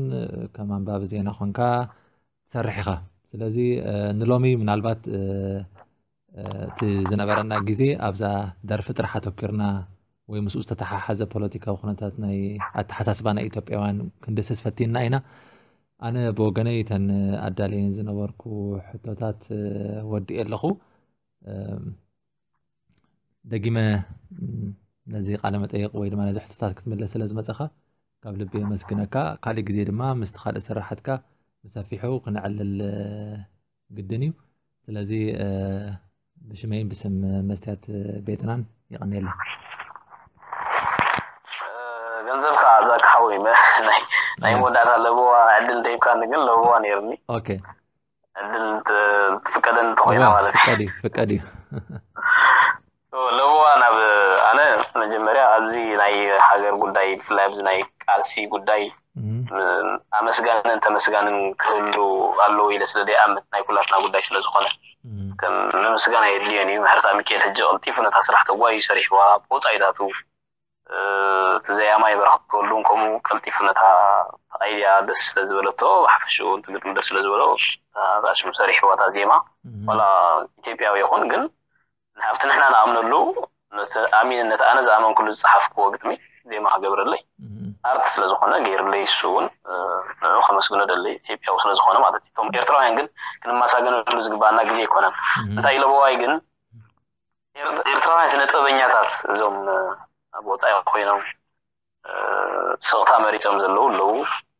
ከም ኣንባቢ ዜና ኮንካ ትሰርሕ ኢኻ። ስለዚ ንሎሚ ምናልባት እቲ ዝነበረና ግዜ ኣብዛ ደርፊ ጥራሕ ኣተኪርና ወይ ምስኡ ዝተተሓሓዘ ፖለቲካዊ ኩነታት ናይ ኣተሓሳስባ ናይ ኢትዮጵያውያን ክንድስስ ፈቲና ኢና። ኣነ ብወገነይ እተን ኣዳለየን ዝነበርኩ ሕቶታት ወዲኤ ኣለኹ። ደጊመ ነዚ ቃለ መጠይቕ ወይ ድማ ነዚ ሕቶታት ክትምለስ ስለ ዝመፀኻ ካብ ልቢ የመስግነካ። ካሊእ ግዜ ድማ ምስቲ ካልእ ስራሓትካ ብሰፊሑ ክነዕልል ግድን እዩ። ስለዚ ብሽመይን ብስም መስትያት ቤትናን ይቐንየለይ። ገንዘብካ ኣዛካ ሓወይ ናይ መወዳእታ ለበዋ ዕድል ደይብካኒ ግን ለበዋ ነይርኒ። ኦኬ ዕድል ትፍቀደኒ እንተኮይና ማለት እዩ። ፍቀድ እዩ ፍቀድ እዩ። ለበዋ ናብ ኣነ መጀመርያ ኣብዚ ናይ ሃገር ጉዳይ ብፍላይ ኣብዚ ናይ ቃልሲ ጉዳይ ኣመስጋንን ተመስጋንን ክህሉ ኣለዎ ኢለ ስለ ዘይኣምን ናይ ኩላትና ጉዳይ ስለ ዝኾነ ንምስጋና የድልዮን እዩ። ምሕረት ሚካኤል ሕጂ ቀልጢፉ ነታ ስራሕ ተጓዩ ሰሪሕዋ ብወፃኢታቱ እቲ ዘያማይ በረኸት ተወልዱን ከምኡ ቀልጢፉ ነታ ኣይድያ ደስ ስለ ዝበለቶ ብሓፈሽኡ እቲ ግጥሚ ደስ ስለ ዝበሎ እታ ሽሙ ሰሪሕዋ እታ ዜማ ዋላ ኢትዮጵያዊ ይኹን ግን ኣብቲ ንሕና ንኣምነሉ ነቲ ኣሚን ነቲ ኣነ ዝኣመንኩሉ ዝፀሓፍክዎ ግጥሚ ዜማ ክገብረለይ ኣርት ስለ ዝኾነ ገይሩለይ እሱ እውን ንዑ ከመስግኖ ደለይ ኢትዮጵያዊ ስለ ዝኾነ ማለት እዩ። እቶም ኤርትራውያን ግን ክንመሳገነሉ ዝግባኣና ግዜ ኣይኮነን። እንታይ ኢለበዋይ ግን ኤርትራውያን ስነ ጥበበኛታት እዞም ኣብ ወፃኢ ኮይኖም ስቕታ መሪፆም ዘለዉ ኣለዉ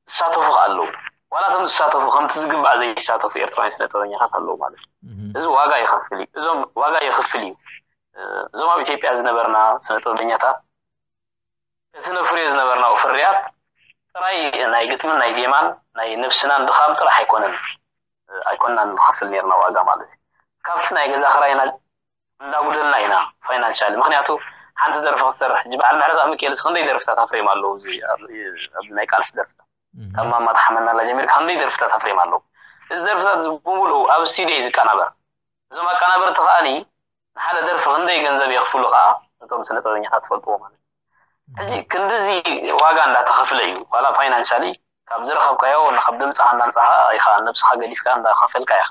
ዝሳተፉ ከዓ ኣለዉ። ዋላ እቶም ዝሳተፉ ከምቲ ዝግባእ ዘይሳተፉ ኤርትራውያን ስነ ጥበበኛታት ኣለዉ ማለት እዩ። እዚ ዋጋ ይኸፍል እዩ። እዞም ዋጋ ይኽፍል እዩ። እዞም ኣብ ኢትዮጵያ ዝነበርና ስነ ጥበበኛታት እቲ ነፍርዮ ዝነበርናኡ ፍርያት ጥራይ ናይ ግጥምን ናይ ዜማን ናይ ነብስናን ድኻም ጥራሕ ኣይኮነን ኣይኮንና ንኸፍል ነርና ዋጋ ማለት እዩ። ካብቲ ናይ ገዛ ክራይና እንዳጉደልና ኢና ፋይናንሻሊ። ምክንያቱ ሓንቲ ደርፊ ክትሰርሕ ሕጂ በዓል ምሕረት ኣምኪኤልስ ክንደይ ደርፍታት ኣፍሬም ኣለዉ ኣብዚ ናይ ቃልሲ ደርፍታት ካብ ማማ ተሓመናላ ጀሚርካ ክንደይ ደርፍታት ኣፍሬም ኣለዉ። እዚ ደርፍታት እዚ ብምሉኡ ኣብ ስቱዲዮ እዩ ዝቀናበር። እዞም ኣቀናበርቲ ከዓኒ ንሓደ ደርፊ ክንደይ ገንዘብ የኽፍሉ ከዓ እቶም ስነ ጥበበኛታት ትፈልጥዎ ማለት እዩ። ሕጂ ክንድዚ ዋጋ እንዳተኸፍለ እዩ ዋላ ፋይናንሻሊ ካብ ዝረኸብካዮ ካብ ድምፅኻ እንዳምፃኻ ኢኻ ነብስኻ ገዲፍካ እንዳኸፈልካ ኢኻ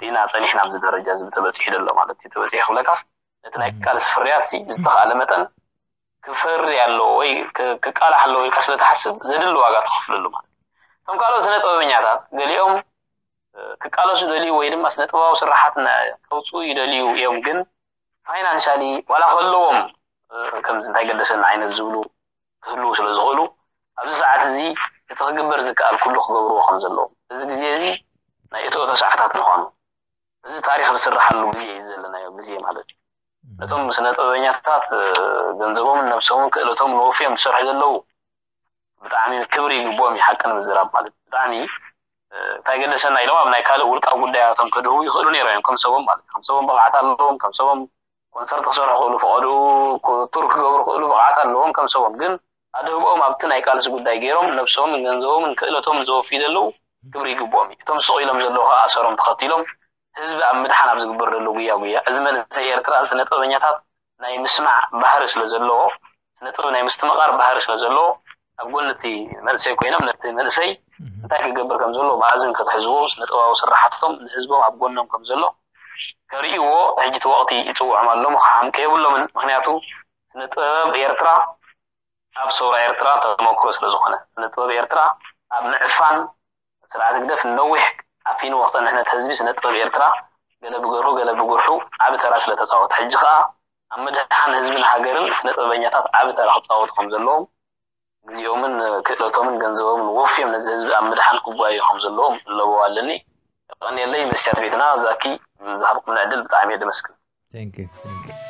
ኢና ፀኒሕና ኣብዚ ደረጃ እዚ ተበፂሑ ዘሎ ማለት እዩ። ተበፂሑ ክብለካስ ነቲ ናይ ቃልሲ ፍርያት ሲ ብዝተኽኣለ መጠን ክፈሪ ኣለዎ ወይ ክቃላሕ ኣለዎ ኢልካ ስለ ትሓስብ ዘድሊ ዋጋ ትኸፍለሉ ማለት እዩ። እቶም ካልኦት ስነ ጥበበኛታት ገሊኦም ክቃለሱ ይደልዩ ወይ ድማ ስነ ጥበባዊ ስራሓት ከውፅኡ ይደልዩ እዮም፣ ግን ፋይናንሻሊ ዋላ ከለዎም ከምዚ እንታይ ገደሰና ዓይነት ዝብሉ ክህልዉ ስለ ዝኽእሉ ኣብዚ ሰዓት እዚ እቲ ክግበር ዝከኣል ኩሉ ክገብርዎ ከም ዘለዎም እዚ ግዜ እዚ ናይ እቶ እቶ ሰዓታት ምዃኑ እዚ ታሪክ ዝስራሓሉ ግዜ እዩ ዘለናዮ ግዜ ማለት እዩ። ነቶም ስነ ጥበበኛታት ገንዘቦምን ነብሶምን ክእለቶም ንወፍዮም ዝሰርሑ ዘለዉ ብጣዕሚ ክብሪ ይግብኦም እዩ። ሓቂ ንምዝራብ ማለት እዩ ብጣዕሚ እንታይ ገደሰና ኢሎም ኣብ ናይ ካልእ ውልቃዊ ጉዳያቶም ከድህቡ ይኽእሉ ነይሮም እዮም። ከም ሰቦም ማለት እዩ። ከም ሰቦም ብቕዓት ኣለዎም። ከም ሰቦም ኮንሰርት ክሰርሑ ክእሉ፣ ፈቐድኡ ቱር ክገብሩ ክእሉ ብቕዓት ኣለዎም። ከም ሰቦም ግን ኣድህቦኦም ኣብቲ ናይ ቃልሲ ጉዳይ ገይሮም ነብሶምን ገንዘቦምን ክእለቶምን ዘወፍዩ ዘለዉ ክብሪ ይግብኦም እዩ። እቶም ስቕ ኢሎም ዘለዉ ከዓ ኣሰሮም ተኸቲሎም ህዝቢ ኣብ ምድሓን ኣብ ዝግበር ዘሎ ጉያ ጉያ እዚ መንእሰይ ኤርትራ ስነ ጥበበኛታት ናይ ምስማዕ ባህሪ ስለ ዘለዎ ስነ ጥበብ ናይ ምስትምቓር ባህሪ ስለ ዘለዎ ኣብ ጎኒ እቲ መንእሰይ ኮይኖም ነቲ መንእሰይ እንታይ ክገብር ከም ዘለዎ ብኣዝን ክትሕዝዎ ስነ ጥበባዊ ስራሓቶም ንህዝቦም ኣብ ጎኖም ከም ዘሎ ከርእይዎ ሕጂ እቲ ወቕቲ ይፅውዖም ኣሎ። ምኽሓምቀ የብሎምን። ምክንያቱ ስነ ጥበብ ኤርትራ ኣብ ሰውራ ኤርትራ ተመክሮ ስለ ዝኾነ ስነ ጥበብ ኤርትራ ኣብ ምዕፋን ስርዓት ህግደፍ ነዊሕ ዓፊንዎ ክጸንሕ ነቲ ህዝቢ ስነ ጥበብ ኤርትራ ገለ ብገርሁ ገለ ብጉርሑ ዓቢ ተራ ስለ ተጻወተ ሕጂ ከኣ ኣብ ምድሓን ህዝብን ሃገርን ስነ ጥበበኛታት ዓቢ ተራ ክጻወቱ ከም ዘለዎም ግዜኦምን ክእለቶምን ገንዘቦምን ወፍዮም ነዚ ህዝቢ ኣብ ምድሓን ክጓየዩ ከም ዘለዎም ለበዋ ኣለኒ። የቐንየለይ መስትያት ቤትና ዛኪ ዝሃብኩምኒ ዕድል ብጣዕሚ እየ ደመስግን። Thank you. Thank you.